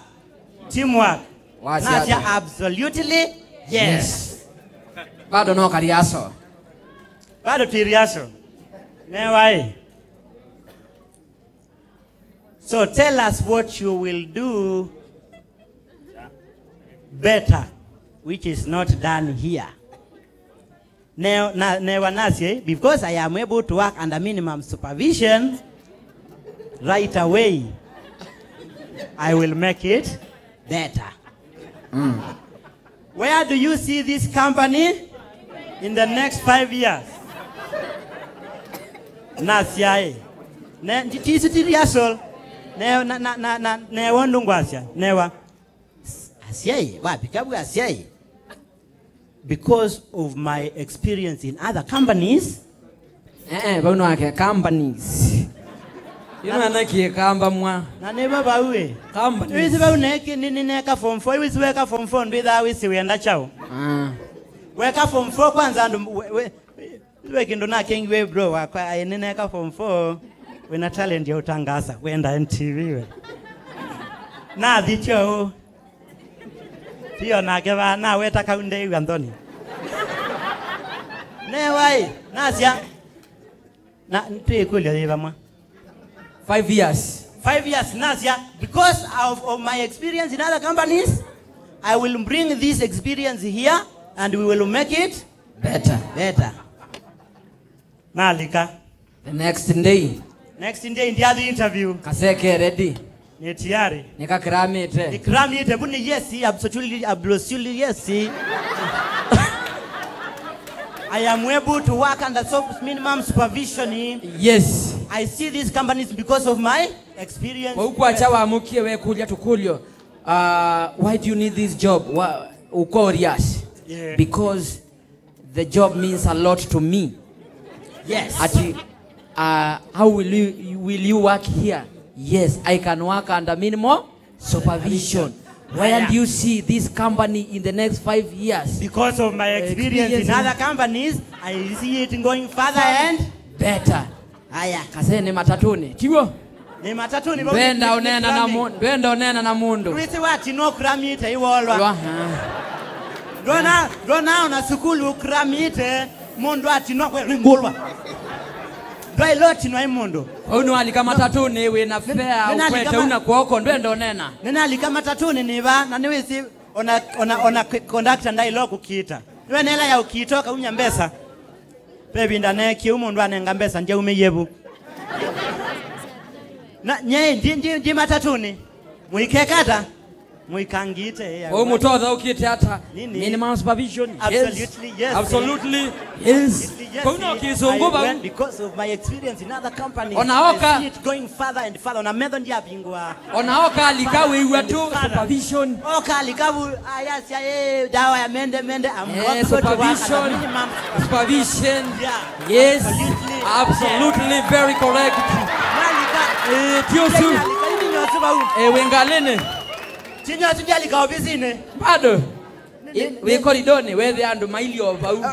teamwork? Wasya ata? Nasya absolutely yes. Yes. Bado no kariaso. Bado twĩ rehearsal. Newa ĩ. So tell us what you will do better, which is not done here. Ne-, na-, newa nasye, because I am able to work under minimum supervision, right away, I will make it better. Mm. Where do you see this company in the next five years? Nasyaĩ. Ne, ti, ti, ti rehearsal. Ne, na, na, na, na, newa ũndũ ngwasya. Newa. Asyaĩ, wavika vu asyaĩ. Because of my experience in other companies. Eh, eh, vau nake companies. Ino ana kĩkamba mwa. Na nĩ va vau ĩ. Companies. Wĩsĩ vau neke, nĩ, nĩ neka form four. Wĩsĩ weka form four, ndwĩthaa wĩsĩ wĩenda kyaũ. Ah. Weka form four kwanza andũ, we, we, we kĩndũ nakengiwe bro wakwa, aĩ nĩ neka form four. Wĩna talent ya ũtangaasa, wenda N T V we. Nathi kyaũ. Tiyo nake va, naweta kau ndeew'a nthoni. Newa ĩ, nasya, na twĩkũlya yĩ vamwe. Five years. Five years, nasya, because of, of my experience in other companies, I will bring this experience here and we will make it better. Better. Nalika. The next day. Next day, ndiathi interview. Kaseke ready. Nĩ tayari. Nĩkakramĩte. Nĩkramĩte, vu nĩ yes, absolutely, absolutely yes. I am able to work under so minimum supervision. Yes. I see these companies because of my experience. Kwa ũkwakya wamũkie wekũlya tũkũlyo, uh, why do you need this job? Wa-, ũkorias. Yeah. Because the job means a lot to me. Yes. Ati, uh, how will you, will you work here? Yes, I can work under minimal supervision. Where do you see this company in the next five years? Because of my experience in other companies, I see it going further and better. Aya. Kasee nĩ matatũnĩ, tiw'o? Nĩ matatũnĩ, vau ndwenda nĩ, nĩ ũneena na kraming. Mu-, ndwenda ũneena na mũndũ. Wĩsĩ watinwa kramĩte iwolwa. Lwa, ah. Ndwona, ndwona ona sukulu ũkramĩte, mũndũ atinwa kwe ringulwa. Ndwaĩle ũtinwa ĩ mũndũ. Vau nĩwalika matatũnĩ wĩ na fea, nĩnalika ũkwete ma- una kwoko, ndwenda ũnena. Nĩnalika matatũnĩ nĩva, na nĩwĩsĩ ona, ona, ona k-, conductor ndaĩle kũkita. Nĩwe nela ya ũkita, ũkaumya mbesa. Ve ĩvinda neekie ũu, mũndũ anenga mbesa, ndyaumĩie vu. Na, nye, ndi, ndi, ndi matatũnĩ. Mũikekata? Mũikangĩte, eh, ũu mũtothaũkĩte ata? Nini? Minimum supervision. Yes. Absolutely, yes. Absolutely. Yes. Absolutely, yes. Kau no kĩsũngũ vau. I went because of my experience in other companies. Ona oka. I see it going further and further. Ona metho ndyavingũa. Ona oka alika wĩw'a tu supervision. Oka alika vu, ayasya, eh, dawa ya mende, mende, I'm eh, working to work at a supervision. Minimum. Supervision. Yeah. Yes. Absolutely. Absolutely. Yeah. Very correct. Nalika. Eh, ti ũsu. Nalika, ini nyosu vau. Eh, wĩ ngalĩnĩ. Tinyosu ndyalika ofisinĩ. Bado. Ĩ, wĩ koridonĩ, wethe andũ mailie o vau.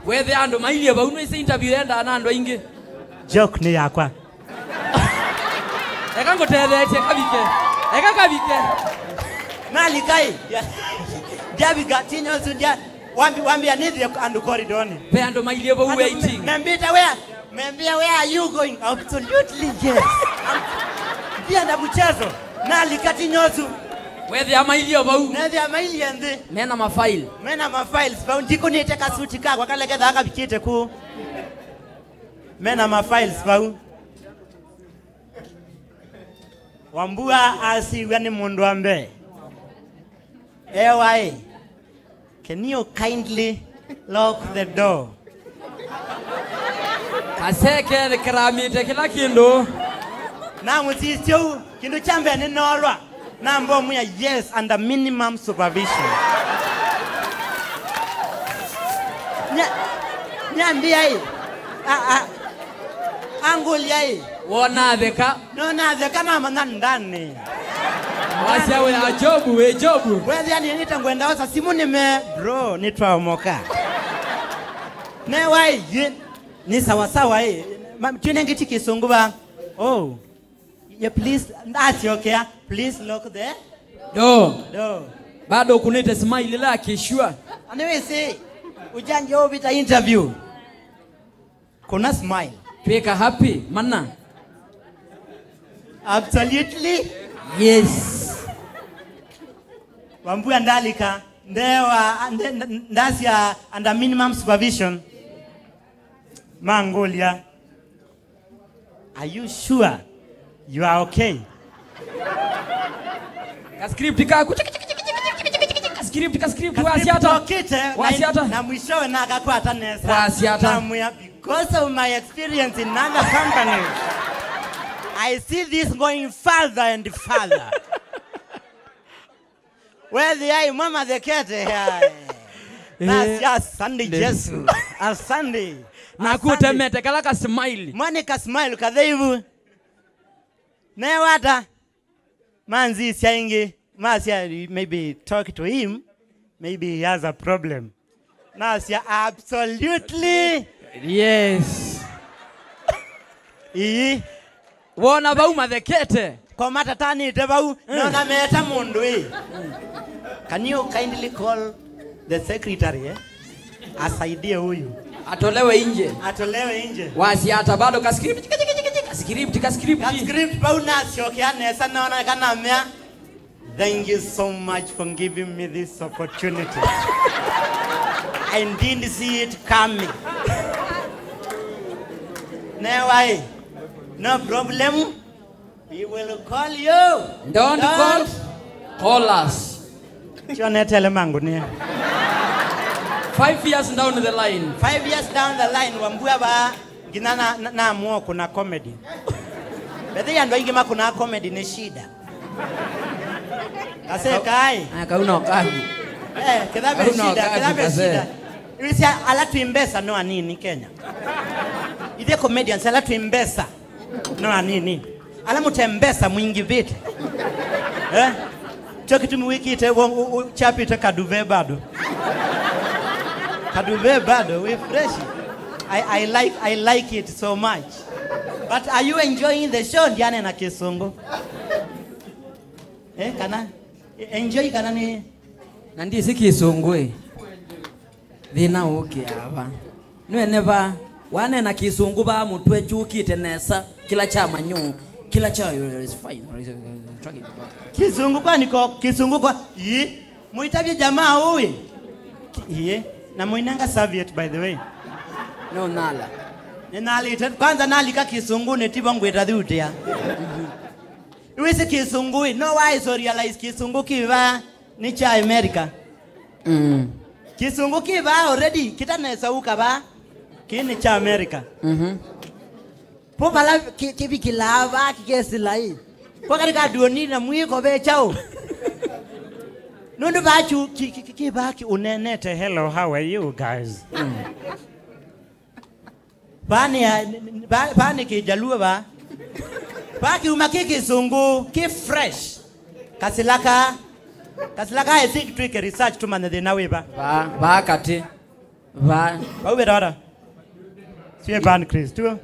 Wethe andũ mailie vau, nĩwĩsĩ interview yendaa na andũ aingĩ. Joke nĩ yakwa. Eka ngũtetheetye, kavike. Eka kavike. Nalika ĩ. Ndyavika, tinyosu ndya-, wambi-, wambia nĩthie andũ koridonĩ. Ve andũ mailie vau waiting. Andũ me-, membĩte wea. Membia, "Where are you going?" Absolutely, yes. Ndienda mchezo. Nalika tinyosu. Wethĩa mailie vau. Nethĩa mailie nthĩ. Mena mafaili. Mena mafiles vau. Ndikunĩte kasuti kakwa kala kethaa kavikĩte kũu. Mena mafiles vau. Wambua asiw'a nĩ mũndũ wa mbee. Ewa ĩ. Can you kindly lock the door? Kaseke nĩkĩramĩte kĩla kĩndũ. Namũsisya ũu, kĩndũ kya mbee nĩnoolwa. Nambomwĩa, "Yes, under minimum supervision." Nya-, nyambĩa ĩ, a, a, angũlya ĩ. Wona atheka. No natheka namanya ndani. Wasya wĩ Jobu, wĩ Jobu. Wethĩa nĩnĩte ngwenda osa simũ nĩme, "Bro, nĩtwaomoka." Newa ĩ, nĩ sawa sawa ĩ. Ma-, twĩnengĩti kĩsũngũ va. Oh. Yeah, please, ndasyokea. Please lock the door. Door. Bado ũkunĩte smile ĩla kĩshua. Anĩwĩsĩ, ũjanjia ũvita interview. Kuna smile. Twĩka happy, mana. Absolutely. Yes. Wambua ndalika, ndewa, nde-, nde-, ndasya under minimum supervision. Mangũlya, "Are you sure you are okay?" Ka script kaku, ka script, ka script, wasya ata? Tokite, wasya ata? Na, na mwishowe nakakwata nesa. Wasya ata? Namwĩa, "Because of my experience in other companies, I see this going further and further." Wethĩa ĩmwe mathekete, ai. Eh, nasya, "Asante Yesu. Asante." Naku ũtemete kala ka smile. Mwanĩ ka smile katheivu. Newata? Manzisya ĩngĩ, masya, "Maybe talk to him, maybe he has a problem." Nasya, "Absolutely." Yes. Ii. Wona vau mathekete. Ko matatanĩte vau, mm, nona meta mũndũ ĩ. "Can you kindly call the secretary, eh? Asaidie huyu. Atolewe nje." Atolewe nje. Wasya ata bado ka script, ka script, ka script. Ka script vau nasyokea nesa nona kana mea. "Thank you so much for giving me this opportunity. I didn't see it coming." Newa ĩ, "No problem. We will call you. Don't call, call us." Kyo netele mangũnĩa. Five years down the line. Five years down the line, Wambua va, nginya na, na, naamua kũna comedy. Bethe andũ aingĩ makũnaa comedy nĩ shida. Kaseka ĩ. Ah, kau no kaku. Eh, kĩtha ve shida, kĩtha ve shida. Wĩsĩ ala twĩ mbesa no anini Kenya. Ithe comedians ala twĩ mbesa no anini. Ala mũte mbesa mwingĩvĩte. Eh? Kyo kĩtumi wĩkĩte, wo, u, u, chapite kaduve bado. Kaduve bado, we fresh. I, I like, I like it so much. But are you enjoying the show? Ndiane na kĩsũngũ. Eh, kana? Enjoy kana nĩ? Na ndisi kĩsũngũ ĩ. Thĩna ũkĩaa va? Nĩwene va? Waneena kĩsũngũ va mũtwe kyũkĩte nesa, kĩla kya manyũ, kĩla kya, it's fine. Kĩsũngũ kwa niko, kĩsũngũ kwa, ii, mũitavye jamaa ũĩ? Ii, na mũinenga serviette, by the way. No nala. Nĩnalĩte, kwanza nalika kĩsũngũnĩ tivo ngwĩta thiutĩa. Wĩsĩ kĩsũngũ ĩ, no waĩso realize kĩsũngũ kĩ vaa nĩ kya America. Mm. Kĩsũngũ kĩ vaa already, kĩtanesa ũka vaa, kĩ nĩ kya America. Mhm. Po vala kĩ-, kĩvikĩlaa vaa kĩkesĩla ĩ. Kwa katika duoni na mwĩko ve kyaũ? Nũndũ vaa kyu-, kĩ-, kĩ-, kĩ-, kĩ vaa kĩ-, ũnenete, "Hello, how are you guys?" Mm. Vaa nĩ ya, va-, vaa nĩ kĩjaluo vaa. Vaa kĩuma kĩ kĩsũngũ, kĩ fresh. Kasila ka, kasila ka, I think twĩke research tũmanye thĩna wĩ va. Vaa, vaa katĩ. Vaa. Vau veta vata? Sio Evan Kristo.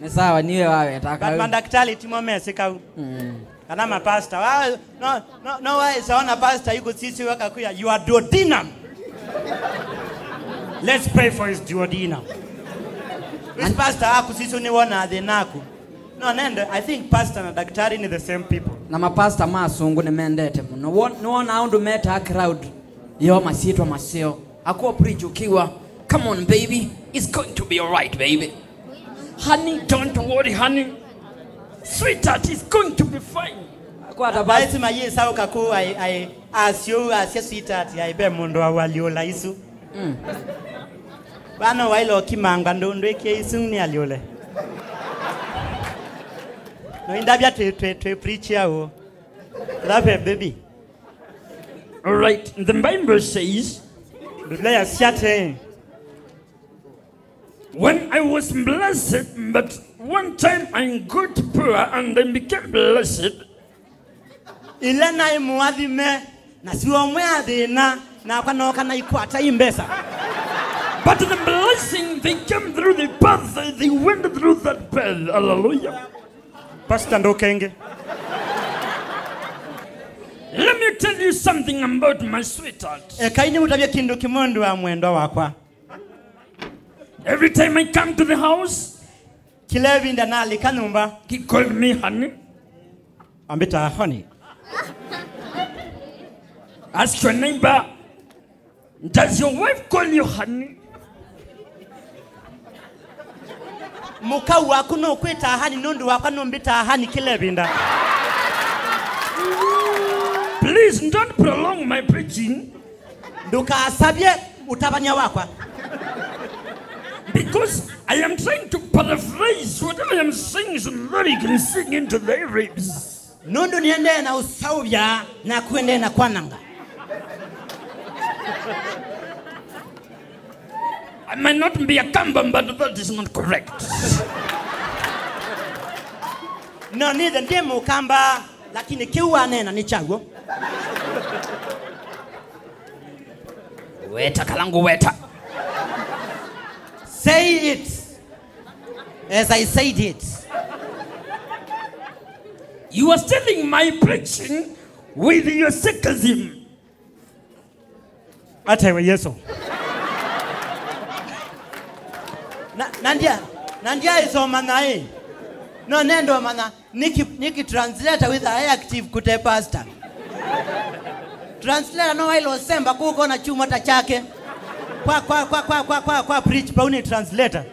Nĩ sawa, niwe waweta. But kau. Mandakitali timo mesĩ kau. Mm. Kana mapasta. Wa-, no, no, no, waĩsa ona pasta ĩkũsisya wakakwĩa, "You are duodenum." Let's pray for his duodenum. Wĩsĩ pasta akũsisya nĩwonaa thĩna aku. No, nende, I think pastor na daktari nĩ the same people. Na mapasta ma asũngũ nĩmendete mũno. Won-, nĩwonaa ũndũ metaa crowd yoo masyĩtwa maseo. Akuo preach ũkiwa, "Come on, baby. It's going to be all right, baby. Honey, don't worry, honey. Sweetheart, it's going to be fine." Akwata basi. Aisi mayĩsaũka kũu, ai, ai, asyo, asya sweetheart, ai, ve mũndũ wa waliũla isu. Mm. Vano waĩle ũkimanga ndũ-, ndwĩkie isu nĩ aliũle. No indavya twĩ, twĩ, twĩ preach ya ũũ. Love her, baby. All right, the Bible says, Biblia yasya atĩĩ, "When I was blessed, but one time I got poor and I became blessed." Ĩla naĩ mũathime, na sio ũmwe athĩna, nakwa nooka naikwata i mbesa. But the blessing, they came through the path, they went through that path. Hallelujah. Pastor Ndokenge. Let me tell you something about my sweetheart. Ekai nĩmũtavye kĩndũ kĩmwe ũndũ wa mwendwa wakwa. Every time I come to the house, kĩla ĩvinda nalika nyũmba, he called me honey. Ambĩtaa honey. Ask your neighbor, "Does your wife call you honey?" Mũkau waku nũkwĩtaa honey nũndũ wakwa nũmbĩtaa honey kĩla ĩvinda. Please don't prolong my preaching. Ndũkasavye ũtavany'a wakwa. Because I am trying to paraphrase whatever I am saying so that you can sing into their ribs. Nũndũ nĩendee na ũsaũvya na kũendee na kwananga. I might not be a Kamba, but that is not correct. No nĩthe ndĩ Mũkamba, lakini kĩu waneena nĩ kyaw'o. Weta kala ngũweta. Say it as I said it. You are stealing my preaching with your sarcasm. Atewe Yesu. Na, na ndia, na ndia isomana ĩ. No nendo mana. Nĩkĩ, nĩkĩ translator wĩthaa e active kũte pastor? Translator no waĩle ũsemba kũkona kyumwa ta kyake. Kwa, kwa, kwa preach pau nĩ translator.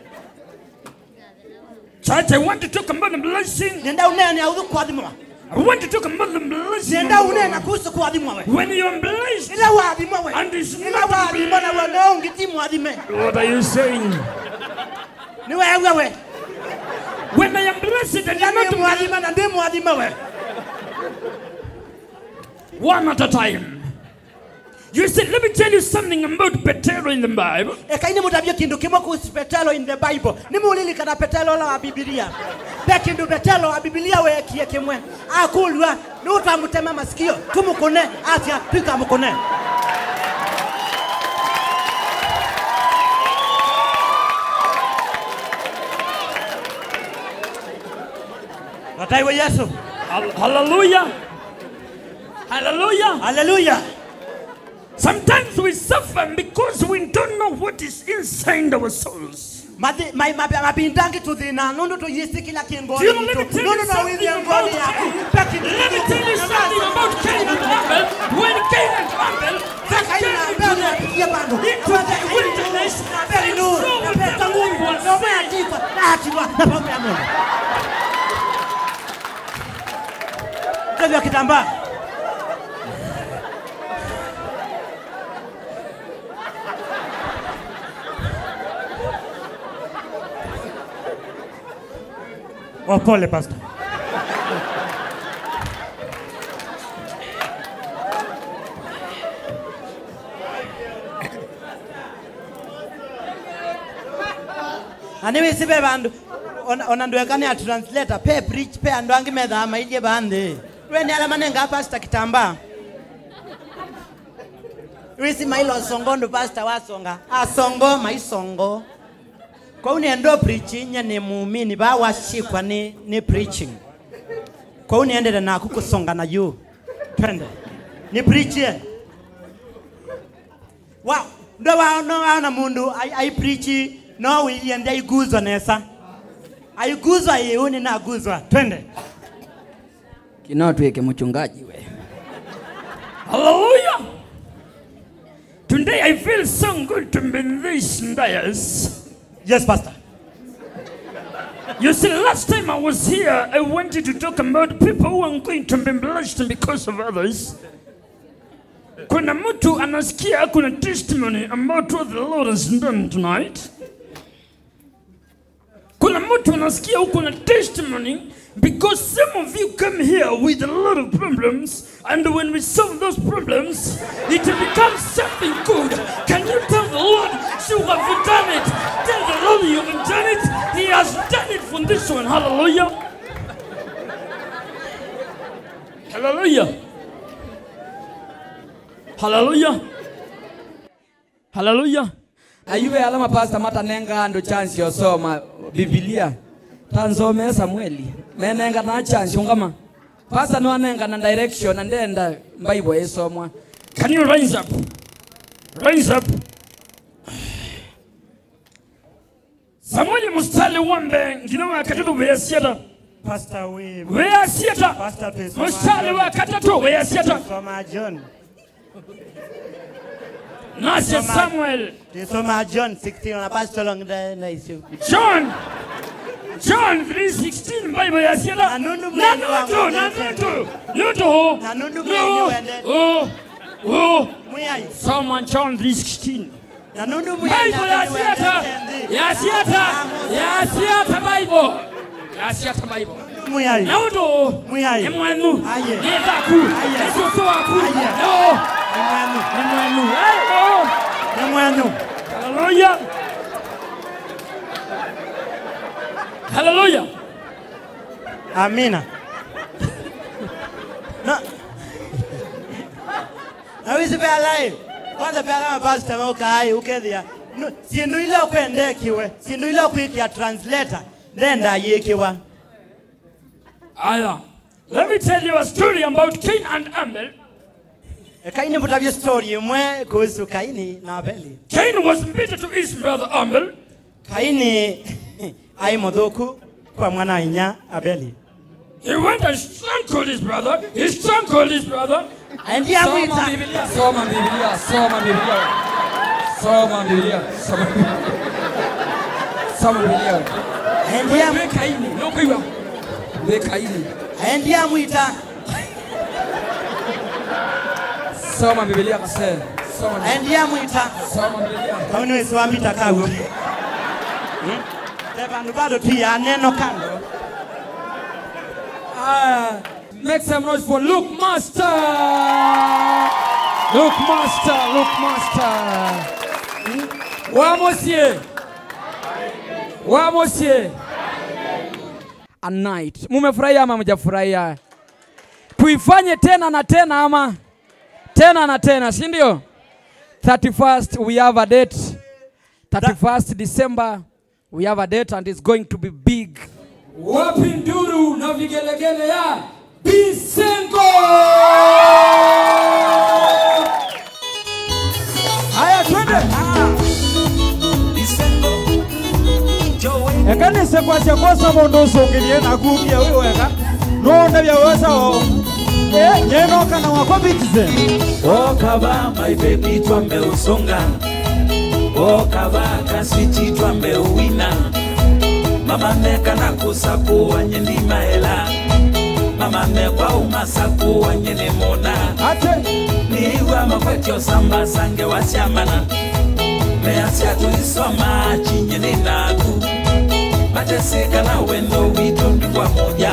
Church, I want to talk about the blessing. Nenda ũneena ũthũ kũathimwa. I want to talk about the blessing. Nenda ũneena kuhusu kũathimwa we. When you are blessed, ĩla waathimwa we. And it's ĩla not waathimwa na we no ũngĩ ti mwathime. What are you saying? Nĩweew'a we? When I am blessed and you are not mwathima na ndĩ mwathima we. One at a time. You see, let me tell you something about Petero in the Bible. Ekai nĩmũtavye kĩndũ kĩmwe kuhusu Petero in the Bible. Nĩmũlilikana Petero ũla wa Bibilia? Ve kĩndũ Petero wa Bibilia weekie kĩmwe. Akũlw'a, nũũ twamũtema masikio, tũmũkũne? Asya, tũikamũkũne. Ataiwe Yesu. Hal-, hallelujah. Hallelujah. Hallelujah. Sometimes we suffer because we don't know what is inside our souls. Mathi-, ma-, ma-, mavinda angĩ tũthĩnaa nũndũ tũyĩsĩ kĩla kĩ ngoonĩ yitũ. Let me tell you something about Cain. Let me tell you something about Cain and Abel. When Cain and Abel, they came into the, into the wilderness, and so was the Lord was saying, Oh, pole, Pastor. Na nĩwĩsĩ ve vandũ, ona, ona ndweka nĩ a translator, pe preach, pe andũ angĩ methaa mailyĩ vaa nthĩ. We nĩ ala manengaa pastor kitambaa. Wĩsĩ maila ũsongo ndũ pastor wasonga. Asongo, maisongo. Kwoou nĩenda preach, nye nĩ muumini, vaa wasikwa nĩ, nĩ preaching. Kwoou nĩendete naku kũsonga na yu. Twende. Nĩ preach ye. Wa, ndo wa, no waona mũndũ ai, ai preach, no wĩie ndi aiguzwa nesa. Aiguzwa ĩĩ, ũnĩ naguzwa. Twende. Kino twĩke mũchungaji we. Hallelujah. Today I feel so good to be in this dais. Yes, Pastor. You see, last time I was here, I wanted to talk about people who are going to be blessed because of others. Kuna mtu anasikia kuna testimony about what the Lord has done tonight. Kuna mtu anasikia uko na testimony because some of you come here with a lot of problems, and when we solve those problems, it becomes something good. Can you tell the Lord you have done it? Tell the Lord you have done it. He has done it for this one. Hallelujah. Hallelujah. Hallelujah. Hallelujah. Na yu ve ala mapasta matanengaa andũ chance ya ũsoma Mbivilia. Ta nsomee Samueli. Menenganaa chance, ũngama. Pasta nĩwanengana direction na ndenda Bible ĩsomwa. Can you rise up? Rise up. Samueli mũstari wa mbee nginya wa katatũ wĩasya ata? Pastor, we, wĩasya ata? Pastor, twĩsoma mũstari wa katatũ wĩasya ata? Twĩsoma John. Nasya Samuel. Twĩsoma John sixteen, na Pastor Long, na, na isu. John. John three sixteen, Bible yasya ata? Na nũndũ Mwĩai nĩwendete. Na nũndũ, nũndũ, nũndũ. Na nũndũ Mwĩai nĩwendete. Oh, oh, oh. Mwĩai. Soma John three sixteen. Na nũndũ Mwĩai Bible yasya ata? Yasya ata? Yasya ata Bible? Yasya ata Bible? Mwĩai. Na ũndũ Mwĩai. Nĩ mwenyu. Aye. Nĩ thaku. Aye. Nĩ sũsũ waku. Aye. No. Nĩ mwenyu. Nĩ mwenyu. Aye, no. Nĩ mwenyu. Hallelujah. Hallelujah. Amina. Na, na wĩsĩ ve ala ĩ, kwanza ve ala mapasta maukaa ĩ, ũkethĩa. No, syĩndũ ila ũkwendekiwe, syĩndũ ila ũkwĩkĩa translator, ndenda yĩkĩwa. Aya, let me tell you a story about Cain and Abel. Ekai nĩmũtavye story ĩmwe kuhusu Kaini na Abeli. Cain was bitter to his brother Abel. Kaini aĩ mũthũku kwa mwana-a-inyia Abeli. He went and strangled his brother. He strangled his brother. Aendie amwĩta. Soma Biblia, soma Biblia, soma Biblia. Soma Biblia, soma Biblia. Soma Biblia. Aendie am- Wĩ Kaini, nũkwĩw'a? Wĩ Kaini. Aendie amwĩta. Soma Biblia, kasee. Soma Biblia. Aendie amwĩta. Soma Biblia. Kau nĩwĩsĩ wambita kau. Hmm? Ve vandũ va tũtiaa neno kando. Ah, make some noise for Luke Master. Luke Master, Luke Master. Hmm? Wa mũsyĩ. Wa mũsyĩ. A night. Mumefurahia ama mjafurahia? Tuifanye tena na tena ama? Tena na tena, si ndio? Thirty-first, we have a date. Thirty-first December, we have a date and it's going to be big. Wapi nduru na vigelegele ya Bisengo? Eka nĩse kwasya kwosa mũndũ ũsũngĩlye naku ũthia wĩ weka. Nũndavya wesa o. Eh, nyeno kana wakwa Citizen. Woka va, my baby, twambe ũsũnga. Woka va, kaswiti, twambe ũwina. Mama meka na kũsakũa nye ndimaela. Mama mekwa ũmasakũa nye nĩ mũna. Ate. Nĩw'a makwetyo samba sange wasyamana. Measya tũisoma chinye nĩ naku. Matesĩka na wendo witũ ndi kwa moja.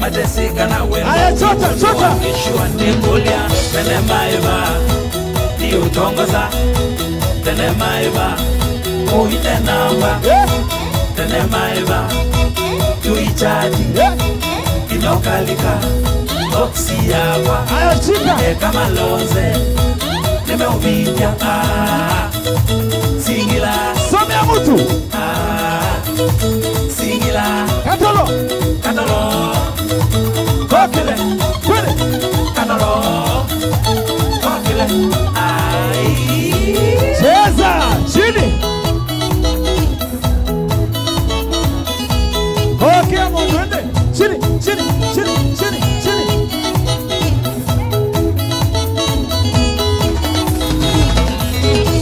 Matesĩka na wendo. Aya, chota, chota. Nĩkũlya tene maĩva. Ndiũtongoza tene maĩva. Ũine namba. Yeah. Tene maĩva. Tuichati. Yeah. Inokalika. Boksi yakwa. Aya, chika. Eka malonze. Nimeuvindya. Ah. Singila. Somea mtu. Ah, singila. Katolo. Katolo. Kokele. Kwele. Katolo. Kokele. Ai. Cheza. Chini. Kokea mondo ende. Chini, chini, chini, chini, chini.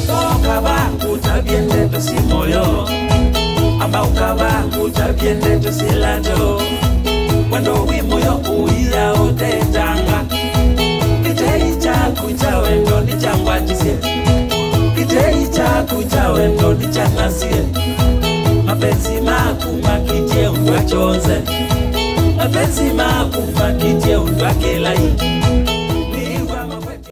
Ũkava ngũtavye ndeto syĩ mũyo. Amba ũkava ngũtavye ndeto syĩ lato. Wendo wĩ mũyo ũia ũtetanga. Kĩtei kyaku kya wendo nĩkyangwatisye. Kĩtei kyaku kya wendo nĩkyanasye. Mapenzi maku makĩtye ũndũ wa kyonze. Mapenzi maku makĩtye ũndũ wa kĩlai.